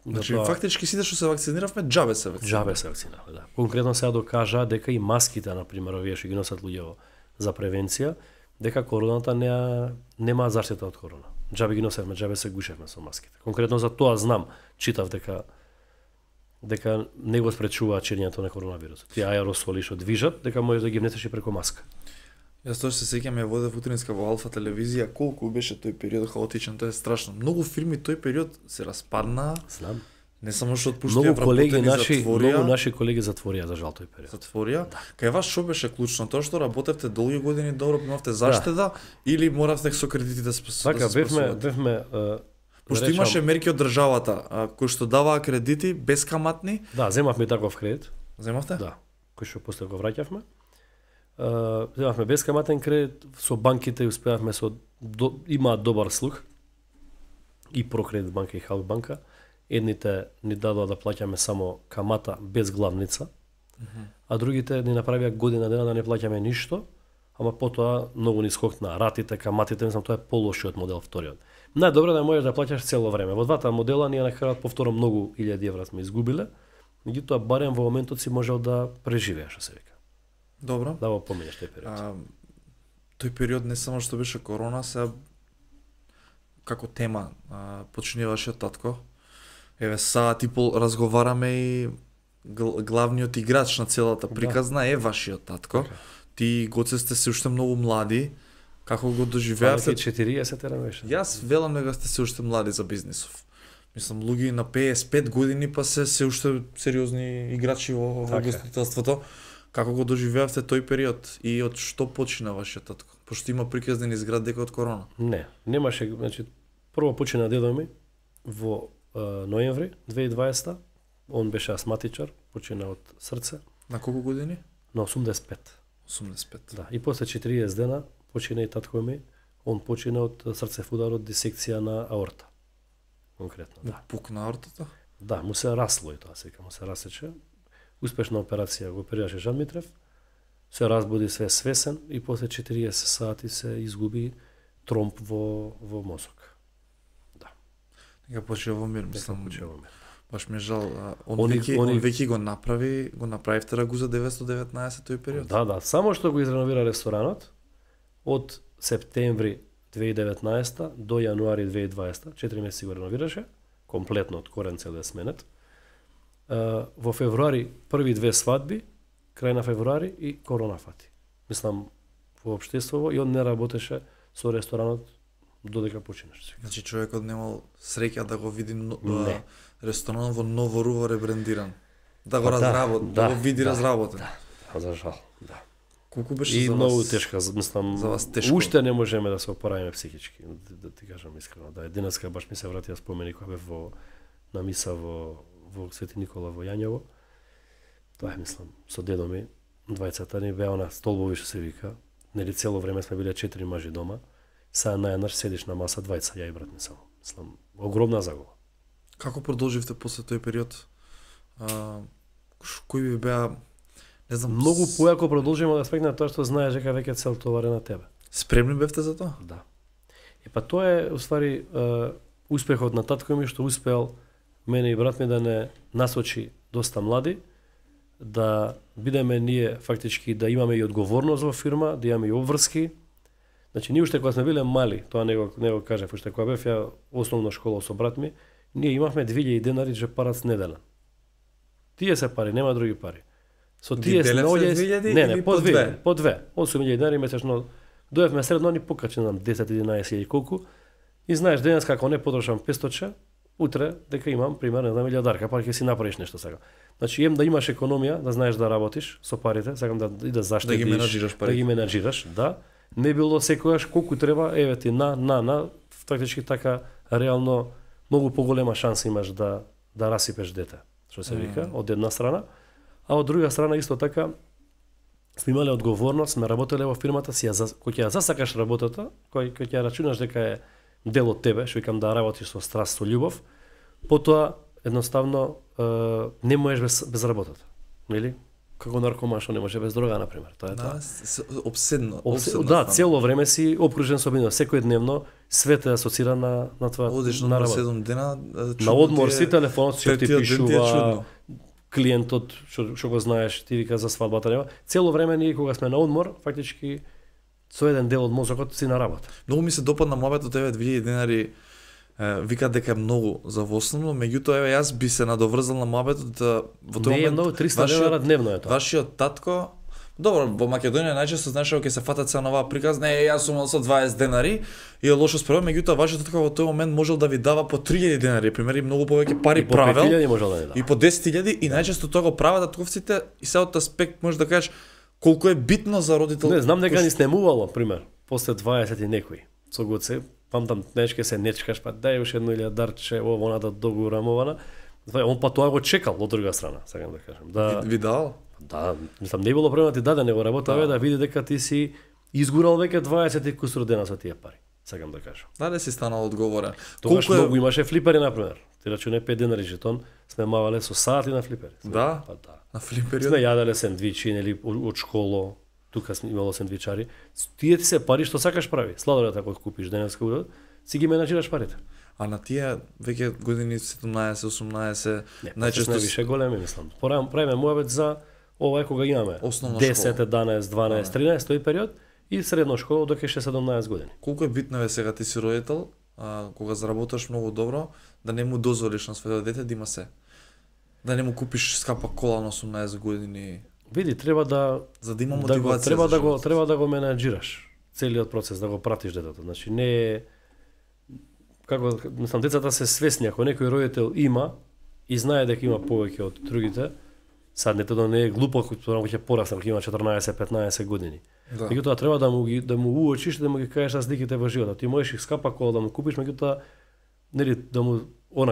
Значи фактички сите што се вакциниравме џабе се вакциниравме. Џабе се вакциниравме, да. Конкретно сега докажа дека и маските на пример овие што ги носат луѓе за превенција, дека короната нема заштита од корона. Џабе ги носевме, џабе се гушевме со маските. Конкретно за тоа знам, читав дека не го спречуваат ширењето на коронавирусот. Тие аеросоли што движат, дека можеш да ги внесеш и преку маска. Јас тоа се сеќам, ја водев утринска во Алфа телевизија, колку беше тој период хаотичен, тоа е страшно. Многу фирми тој период се распаднаа. Знам. Не само што отпуштија вработени затворија. Многу наши колеги затворија за жал тој период. Затворија. Да. Кај вас што беше клучно? Тоа што работевте долги години добро, имавте заштеда или моравте со кредити да се така, бевме пошто имаше мерки од државата кои што даваа кредити бескаматни. Да, земавме таков кредит. Земавте? Да. Кој што после го враќавме. Земавме бескаматен кредит со банките, успеавме имаат добар слух. И Прокредит банка и Халк банка. Едните ни дадоа да плаќаме само камата без главница, а другите ни направија година дена да не плаќаме ништо, ама потоа многу ни скокна ратите, каматите, мислам тоа е полошиот модел вториот. Најдобро да можеш да плаќаш цело време. Во двата модела ние на крајот повторно многу илјади евра сме изгубиле, меѓутоа барем во моментот си можел да преживееш, што се вика. Добро. Да го поминеш тој период. Тој период не само што беше корона, сега како тема почини вашиот татко. Еве саат и пол разговараме и главниот играч на целата приказна е вашиот татко. Ти Гоце сте се уште многу млади. Како го доживеавте? 40 беше. Јас велам дека сте се уште млади за бизнисов. Мислам луѓе на 55 години па се уште сериозни играчи во гостителството. Како го доживеавте тој период и од што почина вашиот татко? Пошто има приказни изград дека од корона. Не, немаше, значи прво почина дедо ми во ноември 2020. Он беше астматичар, почина од срце. На колку години? На 85. 85. Да, и после 40 дена почина и татко ми Он почина од срцев удар од дисекција на аорта. Конкретно, да. Пукна аортата? Да, му се расло и тоа сега, му се расече. Успешна операција го оперираше Жан Митрев. Се разбуди све свесен и после 40 сати се изгуби тромб во мозок. Да. Нека почива во мир, мислам. Почива во мир. Баш ми е жал, он веќе го направи втора Гуза 919 тој период. Да, само што го изреновира ресторанот од септември 2019 до јануари 2020, 4 месеци го реновираше, комплетно од корен цел е сменет. Во февруари први две свадби, крај на февруари и корона фати. Мислам во општеството и он не работеше со ресторанот додека починеше. Значи човекот немал среќа да го види ресторанот во ново руво ребрендиран. Да го разработи, да го види разработен. Да, за жал, да. Колку беше и за вас? многу тешка, мислам, за вас тешко. Уште не можеме да се опоравиме психички, да ти кажам искрено. Да, денеска баш ми се вратија спомени кога бев на миса во Свети Никола во Јањево. Тоа е, мислам, со дедо ми, двајцата ни беа на столбови што се вика. Нели цело време сме биле 4 мажи дома. Сега најнаш седиш на маса двајца, ја и брат ми само. Мислам, огромна загуба. Како продолживте после тој период? Кои би беа, не знам, многу појако продолжиме да аспект на тоа што знаеш дека веќе цел товаре на тебе. Спремни бевте за тоа? Да. Тоа е уствари успехот на татко ми што успеал мене и брат ми да не насочи доста млади, да бидеме ние фактички да имаме и одговорност во фирма, да имаме и обврски. Значи ние уште кога сме биле мали, тоа не го кажав, уште кога бев ја основна школа со брат ми, ние имавме 2000 денари джепарац неделен. Тие се пари, нема други пари. Со тие сноѓе не, по две. 8000 денари месечно. Доевме средно ни покачи нам 10-11 или колку. И знаеш денес како не потрошам 500, утре дека имам примерно една милијадарка, па ќе си направиш нешто сега. Значи да имаш економија, да знаеш да работиш со парите, сакам да заштедиш, да ги менаџираш парите. Да ги менаџираш, да. Не било секогаш колку треба, еве ти фактички така реално многу поголема шанса имаш да расипеш дете, што се вика, од една страна, а од друга страна исто така сме имале одговорност, сме работеле во фирмата си, кој ќе ја засакаш работата, кој ќе рачунаш дека е дел од тебе, што викам да работиш со страст, со љубов, потоа едноставно не можеш без работата, нели? Како наркоман што не може без дрога, на пример. Тоа е тоа. Обседно. Да, цело време си обкружен со бина, секојдневно свет е асоциран на тоа. Одиш на 7 дена, на одмор си телефонот што ти пишува, клиентот што го знаеш, ти вика за свадбата нема. Цело време ние кога сме на одмор, фактички со еден дел од мозокот си на работа. Многу ми се допадна муабетот, 2000 денари вика дека е многу за вословно, меѓутоа еве јас би се надоврзал на муабетот во тој момент. Не е многу, 300 денара дневно е тоа. Вашиот татко, добро, во Македонија најчесто знаеш кога ќе се фатат се на оваа приказ, не, јас сум со 20 денари и е лошо спрема, меѓутоа вашиот татко во тој момент можел да ви дава по 3000 денари, примери многу повеќе пари правел. И по 5000 можел да ви дава. И по 10.000 и најчесто тоа го прават татковците и се од аспект можеш да кажеш колку е битно за родител. Не, знам дека ни снемувало, пример, после 20 и некои. Со гоце, памтам нечке се нечкаш, па дај уште едно илјадарче, она да догурамована. Он па тоа го чекал од друга страна, сакам да кажам. Да, ви дал? Да, мислам не било проблем да ти даде, него работа да види дека ти си изгурал веќе 20 и кусур дена со тие пари, сакам да кажам. Дали си станал одговорен? Тогаш многу имаше флипери например. Ти рачуне 5 денари жетон, сме мавале со сати на флипери. Да? Па да. На флипери? Сме јаделе сендвичи, нели од школо, тука сме имало сендвичари. Тие ти се пари што сакаш прави. Сладолета кога купиш денеска, си ги менаџираш парите. А на тие веќе години 17-18 најчесто више големи мислам. Правиме муабет за ова кога имаме 10, 11, 12, 13 тој период и средно школа до 17 години. Колку е битно е сега ти си родител, кога заработаш многу добро, да не му дозволиш на своето дете да има се. Да не му купиш скапа кола на 18 години. Види, треба да за да има мотивација. Треба да го менаџираш целиот процес, да го пратиш детето. Значи не е како мислам децата се свесни, ако некој родител има и знае дека има повеќе од другите, сад детето не е глупо кога ќе порасне, кога има 14-15 години. Меѓутоа треба да му уочиш, да му ги кажеш разликите во животот. Ти можеш и скапа кола да му купиш, меѓутоа нели да му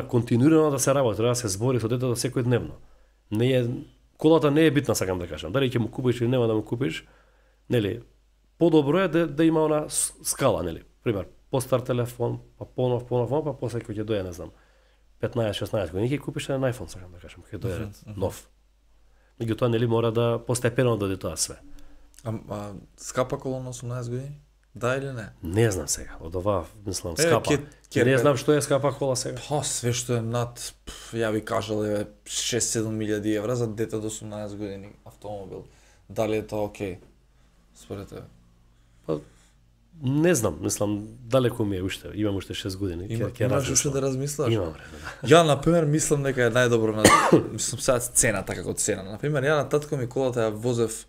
континуирано да се работи, да се збори со детето секојдневно. Не е колата не е битна, сакам да кажам. Дали ќе му купиш или нема да му купиш, нели подобро е да има она скала, нели. пример, постар телефон, па понов, па после кога ќе дојде, не знам, 15-16 години ќе купиш еден iPhone, сакам да кажам, ќе дојде нов. Меѓутоа нели мора да постепено дојде тоа све. Скапа кола на 18 години? Да или не? Не знам сега, од ова мислам скапа. Не знам што е скапа кола сега. Па све што е над, ја ви кажал, 6-7 милијади евра за дете до 18 години автомобил. Дали е тоа окей? Според тебе? Па, не знам, мислам далеко ми е уште, имам уште 6 години. Имаш уште да размислаш? Имам време, да. Ја, например, мислам дека е најдобро на... мислам сега цената како цена. Например, ја на татко ми колата ја возев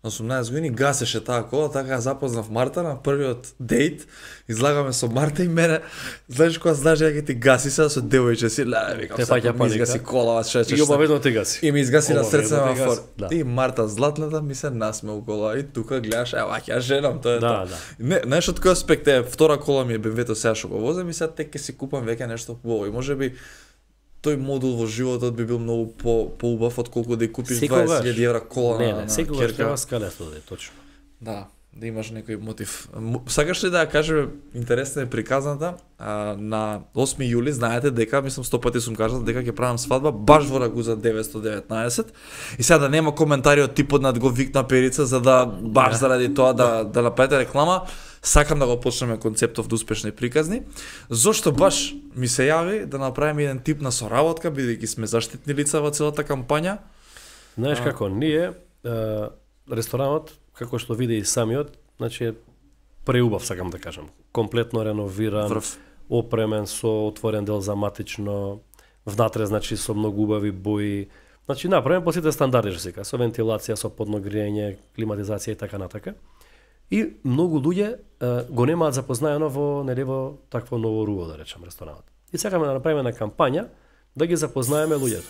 на 18 години, гасеше таа кола, така ја запознав Марта на првиот дејт, излагаме со Марта и мене, знаеш кога знаеш дека ќе ти гаси сега со девојче си, викам, сега ми изгаси кола, и обаведно те гаси. И ми изгаси на срце на фор. Да. И Марта златната ми се насме у кола и тука гледаш, ева ќе женам, тоа е тоа. Да. Не, знаеш од кој аспект е, втора кола ми е BMW-то сега што го возам и сега тек ќе си купам веќе нешто убаво и можеби тој модул во животот би бил многу поубав отколку да ја купиш 20.000 евра кола на секогаш керка. треба скалето да е точно. Да, да имаш некој мотив. Сакаш ли да ја кажеме, интересна е приказната, на 8 јули, знаете дека, мислам 100 пати сум кажал, дека ќе правам свадба баш во Рагуза 919. И сега да нема коментари од типот над го викна Перица, за да баш заради тоа да направите реклама, сакам да го почнеме концептов до успешни приказни. Зошто баш ми се јави да направиме еден тип на соработка, бидејќи сме заштитни лица во целата кампања. Знаеш како, ние, ресторанот, како што види и самиот, значи е преубав, сакам да кажам. Комплетно реновиран, опремен со отворен дел за матично, внатре, значи со многу убави бои. Значи направен по сите стандарди, што се кажа, со вентилација, со подно гриење, климатизација и така натака. И многу луѓе го немаат запознаено во такво ново руво, да речем, ресторанот. И сакаме да направиме на кампања да ги запознаеме луѓето.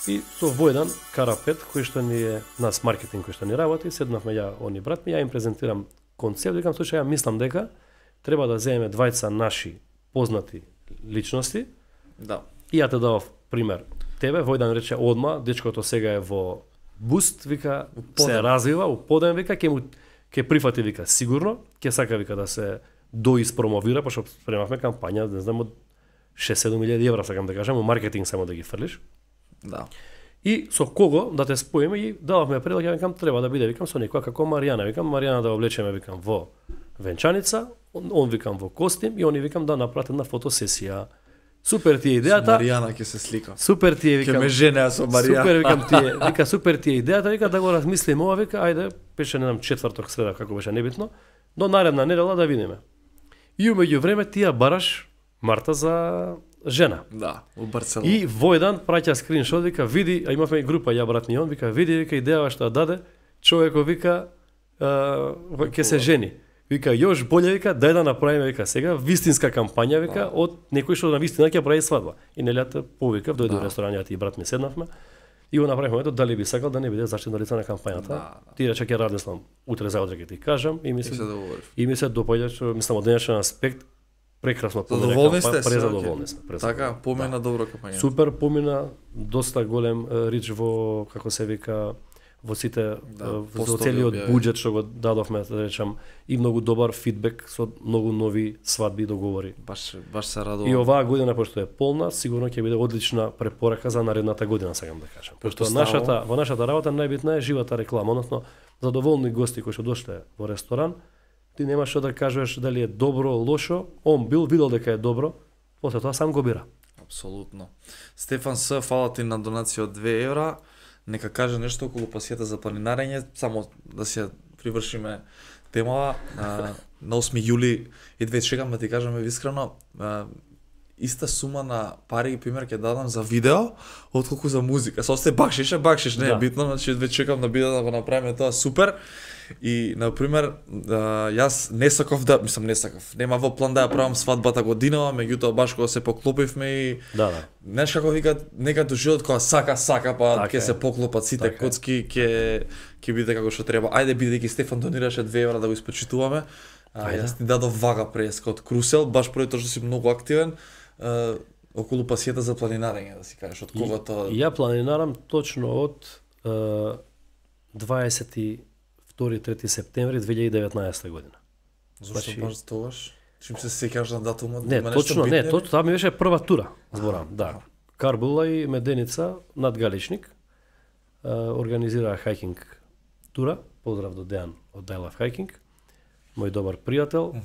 И со Војдан Карапет, кој што ни е нас маркетинг, кој што ни работи, седнавме ја они брат ми, ја им презентирам концепт, викам слушај, ја мислам дека треба да земеме двајца наши познати личности. Да. И ја те давав пример. Тебе Војдан рече одма, дечкото сега е во буст, вика, се развива, у подем, вика, ќе прифати, вика, сигурно, ќе сака, вика, да се доиспромовира, пошто спремавме кампања, не знам, од 6-7 милијади евра, сакам да кажам, у маркетинг само да ги фрлиш. Да. И со кого да те споиме и дававме предлог, ја викам, треба да биде, викам, со некоја како Маријана, викам, Маријана да облечеме, викам, во венчаница, он викам, во костим, и они, викам, да направат една фотосесија. Супер ти е идејата. Со Маријана ќе се слика. Супер ти е, викам. Ќе ме женеа со Маријана. Супер, викам ти е, вика, супер ти е идејата, вика, да го размислиме ова, вика, ајде, беше, не знам, четврток, среда, како беше небитно, до наредна недела да видиме. И умеѓу време ти ја бараш Марта за жена. Да, у Барселона. И Војдан праќа скриншот, вика, види, а имавме и група, ја брат ни он, вика, види, вика, идејава што даде, човекот, вика, ќе се жени. Вика, још боле, вика, дај да направиме, вика, сега вистинска кампања, вика, од некој што на вистина ќе прави свадба. И нелјата повика, дојде во ресторанот и брат ми седнавме. И го направивме, ето, дали би сакал да не биде заштитно лице на кампањата. Да. Ти рече ќе размислам, утре заутре ќе ти кажам и ми се дополја, што мислам од денешен аспект прекрасно помина кампања, презадоволни сме. Така, помина добро кампања. Супер помина, доста голем рич во, како се вика, во сите, во целиот буџет што го дадовме, да речам, и многу добар фидбек со многу нови свадби и договори. Баш се радувам. И оваа година, пошто е полна, сигурно ќе биде одлична препорака за наредната година, сакам да кажам. Пошто во нашата работа најбитна е живата реклама, односно задоволни гости кои што дошле во ресторан, ти немаш што да кажеш дали е добро, лошо, он видел дека е добро, после тоа сам го бира. Апсолутно. Стефан С, фала ти на донација од 2 евра. Нека каже нешто околу пасијата за планинарење, само да се привршиме темава. На 8 јули, и две чекам да ти кажам искрено, иста сума на пари, пример, ќе дадам за видео, отколку за музика. Со осте бакшиш, не е битно, значи две чекам да биде да го направиме тоа супер. И, например, јас не сакав нема во план да ја правам свадбата годинава, меѓутоа баш кога се поклопивме и знаеш како викат, некад до живот кога сака, па ќе се поклопат сите коцки, ќе биде како што треба. Ајде, бидејќи Стефан донираше 2 евра да го испочитуваме, јас ти дадов вага преска од Крусел, баш поради тоа што си многу активен, околу пасијата за планинарење, да си кажеш, од кога тоа... Ја планинарам точно од 22-3 септември 2019 година. Зошто баш тогаш? Чим се сеќаш на датумот? Не, точно, не, тоа ми беше прва тура, зборам, да. Карбула и Меденица над Галичник организираа хајкинг тура. Поздрав до Дејан од I Love Hiking. Мој добар пријател.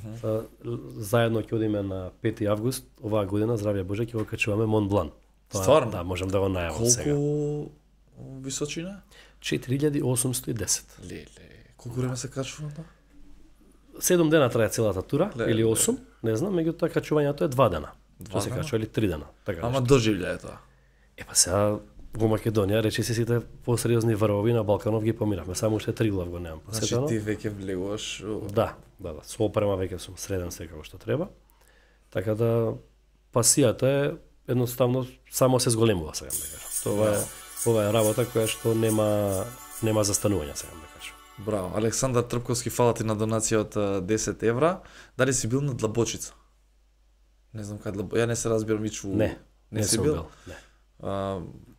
Заедно ќе одиме на 5 август оваа година, здравје Боже, ќе го качуваме Монт Блан. Стварно? Да, можам да го најавам сега. Колку височина? 4810. Леле, колку време се качува тоа? 7 дена трае целата тура, Леле. или 8, не знам, меѓутоа качувањето е 2 дена. Што се дена? качува или 3 дена, така Ама нешто. доживљај тоа. Па сега во Македонија речи се сите посериозни врвови на Балканов ги помиравме, само уште Триглав го немам Значи посетено. ти веќе влегуваш. Да, со опрема веќе сум среден секако што треба. Така да пасијата е едноставно само се зголемува, сега да кажам. Ова е работа која што нема застанување, сега да кажам. Браво. Александар Трпковски, фала ти на донација од 10 евра. Дали си бил на Длабочица? Не знам кај Ја не се разбирам Мичу. Не си сум бил? Не.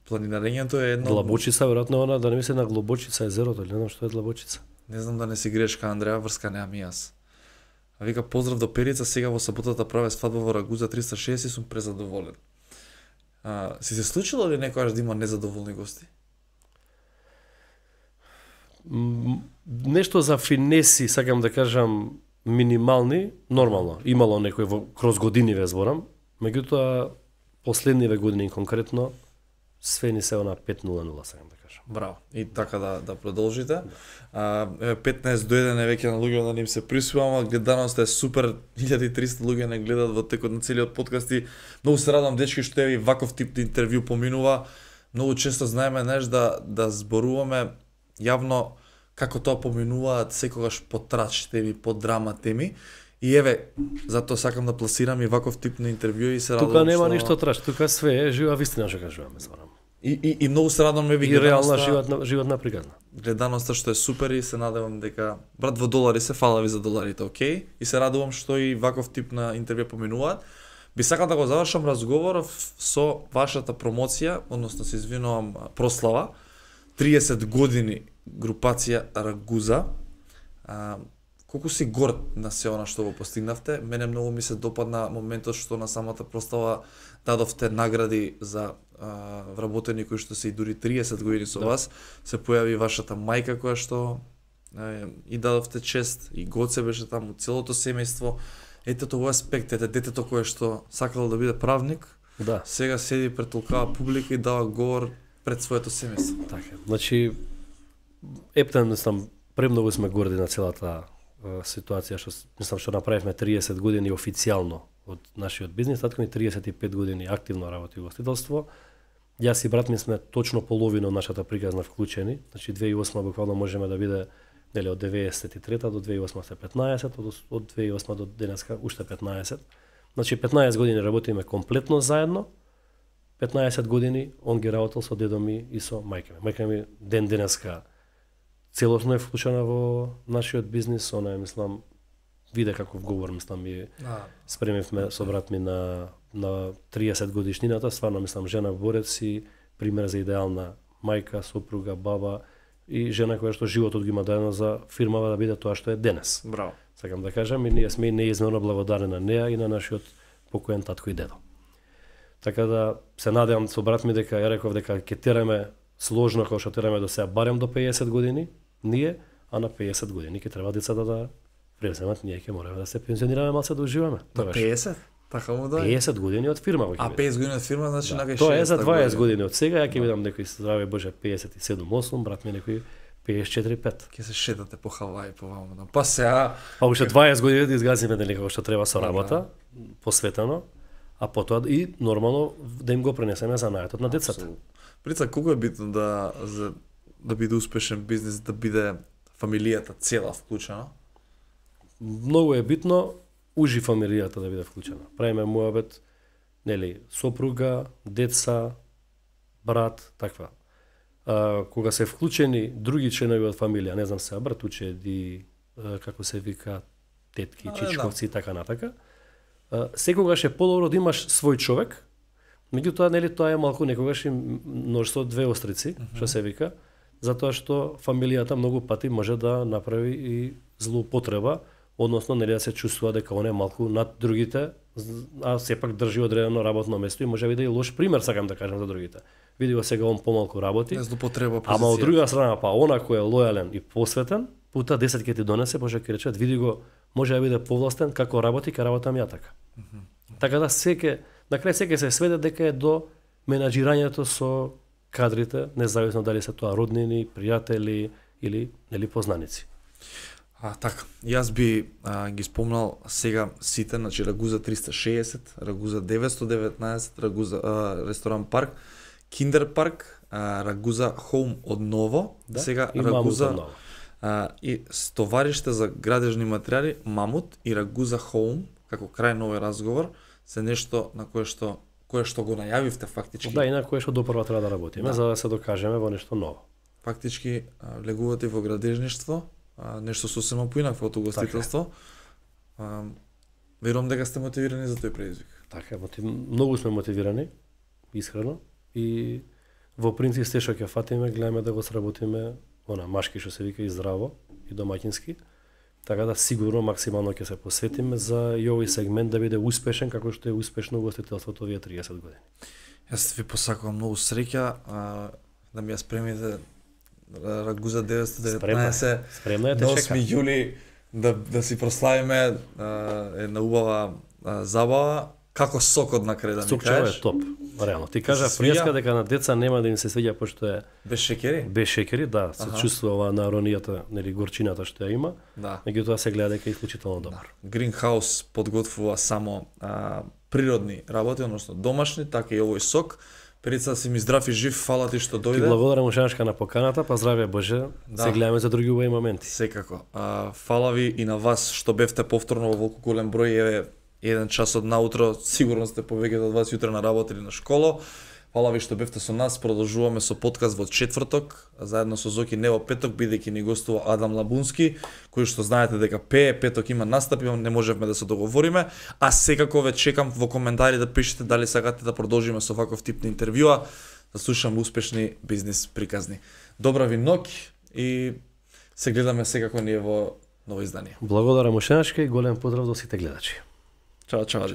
Планинарењето е едно. Длабочица, веројатно она, да не мисли на Глобочица езерото, или не знам што е Длабочица. Не знам да не си грешка, Андреа, врска немам и јас. А вика, поздрав до Перица, сега во саботата праве свадба во Рагуза 360 и сум презадоволен. Си се случило ли некојаш да има незадоволни гости? Нешто за финеси, сакам да кажам, минимални, нормално. Имало некој кроз годиниве зборам, меѓутоа последниве години конкретно све ни се на 5:00, сакам да кажам. Браво. И така да продолжите. 15 до 1 е веќе на луѓе да ним се присвојува, гледаноста е супер, 1300 луѓе не гледат во текот на целиот подкаст и многу се радам дечки што е ваков тип интервју поминува. Многу често знаеме да зборуваме јавно како тоа поминуваат секогаш по трач теми, по драма теми. И еве, затоа сакам да пласирам и ваков тип на интервју и се радам. Тука нема ништо трач, тука све е жива вистина што кажуваме, зборам. И многу се радам еве и реална животна приказна. Гледаноста што е супер и се надевам дека брат во долари се, фала ви за доларите, окей? И се радувам што и ваков тип на интервју поминуваат. Би сакал да го завршам разговоров со вашата промоција, односно се извинувам, прослава. 30 години групација Рагуза. Колку си горд на се она што го постигнавте? Мене многу ми се допадна моментот што на самата прослава дадовте награди за вработени кои што се и дури 30 години со вас. Се појави вашата мајка која што и дадовте чест, и Гоце беше таму, целото семејство. Ете тоа аспект, ете детето кое што сакало да биде правник, Да. сега седи пред толкава публика и дава говор пред своето семејство. Така. Значи ептен мислам премногу сме горди на целата ситуација што мислам што направивме 30 години официјално од нашиот бизнис, татко ни 35 години активно работи во гостителство. Јас и брат ми сме точно половина од нашата приказна вклучени. Значи 2008 буквално можеме да биде нели од 93 до 2008 се 15, од 2008 до денеска уште 15. Значи 15 години работиме комплетно заедно. 15 години он ги работел со дедо ми и со мајка ми. Мајка ми ден денеска целосно е вклучена во нашиот бизнис, она е, мислам, виде каков говор, мислам, и спремивме со брат ми на 30 годишнината, стварно, мислам, жена борец и пример за идеална мајка, сопруга, баба и жена која што животот ги има даено за фирмава да биде тоа што е денес. Браво. Сакам да кажам, и ние сме неизмерно благодарни на неа и на нашиот покоен татко и дедо. Така да се надевам со брат ми дека ја реков дека ќе тераме сложно како што тераме до сега барем до 50 години, ние, а на 50 години ќе треба децата да преземат, ние ќе мораме да се пензионираме малце да уживаме. На 50? Така му да. 50 години од фирма во ќе. А 50 години од фирма значи на 60. Тоа е за 20 години од сега, ја ќе видам некој здраве Боже 57-8, брат ми некој 54-5. Ќе се шетате по Хаваи, по ваму. Па сега Па уште 20 години да изгазиме нели како што треба со работа, посветено, а потоа и нормално да им го пренесеме занаетот на децата. Прица, колку е битно да биде успешен бизнис, да биде фамилијата цела вклучена? Многу е битно ужи фамилијата да биде вклучена. Правиме муабет, нели, сопруга, деца, брат, таква. Кога се вклучени други членови од фамилија, не знам се, братучеди, како се вика, тетки, чичковци и така натака, секогаш е подобро да имаш свој човек, меѓутоа, нели, тоа е малку некогаш и нож со две острици, што се вика, затоа што фамилијата многу пати може да направи и злоупотреба односно нели да се чувствува дека он е малку над другите, а сепак држи одредено работно место и може би да и лош пример сакам да кажам за другите. Види го сега он помалку работи. Не злоупотреба позиција. Ама од друга страна па она кој е лојален и посветен, пута 10 ќе ти донесе, може ќе рече, види го, може да биде повластен како работи, ка работам ја така. Така да на крај секој се сведе дека е до менаџирањето со кадрите, независно дали се тоа роднини, пријатели или нели познаници. Така, јас би ги спомнал сега сите, значи Рагуза 360, Рагуза 919, Рагуза ресторан парк, Киндер парк, Рагуза Хоум одново, сега Рагуза и стовариште за градежни материјали Мамут и Рагуза Хоум како крај на овој разговор се нешто на кое што го најавивте фактички. Да, и на кое што допрва треба да работиме за да се докажеме во нешто ново. Фактички влегувате во градежништво, нешто сосема поинакво од угостителство. Верувам дека сте мотивирани за тој предизвик. Така, многу сме мотивирани, искрено, и во принцип сте што ќе фатиме, гледаме да го сработиме, машки што се вика и здраво, и домаќински, така да сигурно максимално ќе се посветиме за и овој сегмент да биде успешен, како што е успешно угостителството овие 30 години. Јас ви посакувам многу среќа, да ми ја спремите Рагуза 919 спремна е, те чека. 8 јули да си прославиме една убава забава, како сокот на крај да ми кажеш. Сокчево е топ, реално. Ти кажа пријаска дека на деца нема да им се свиѓа пошто е без шекери? Без шекери, да, се чувствува оваа наронијата, нели горчината што ја има. Да. Меѓутоа се гледа дека е исклучително добар. Greenhouse подготвува само природни работи, односно домашни, така и овој сок. Перица си ми здрав и жив, фала ти што дојде. Ти благодарам ушанешка на поканата, па здравје Боже. Да. Се гледаме за други убави моменти. Секако. Фала ви и на вас што бевте повторно во волку голем број, еве 1 час од наутро, сигурно сте повеќе од вас јутре на работа или на школа. Фала ви што бевте со нас, продолжуваме со подкаст во четврток, заедно со Зоки не во петок, бидејќи ни гостува Адам Лабунски, кој што знаете дека пее, петок има настапи, не можевме да се договориме, а секако ве чекам во коментари да пишете дали сакате да продолжиме со ваков тип на интервјуа, да слушам успешни бизнис приказни. Добра ви ноќ и се гледаме секако ние во ново издание. Благодарам ушенашка и голем поздрав до сите гледачи. Чао, чао.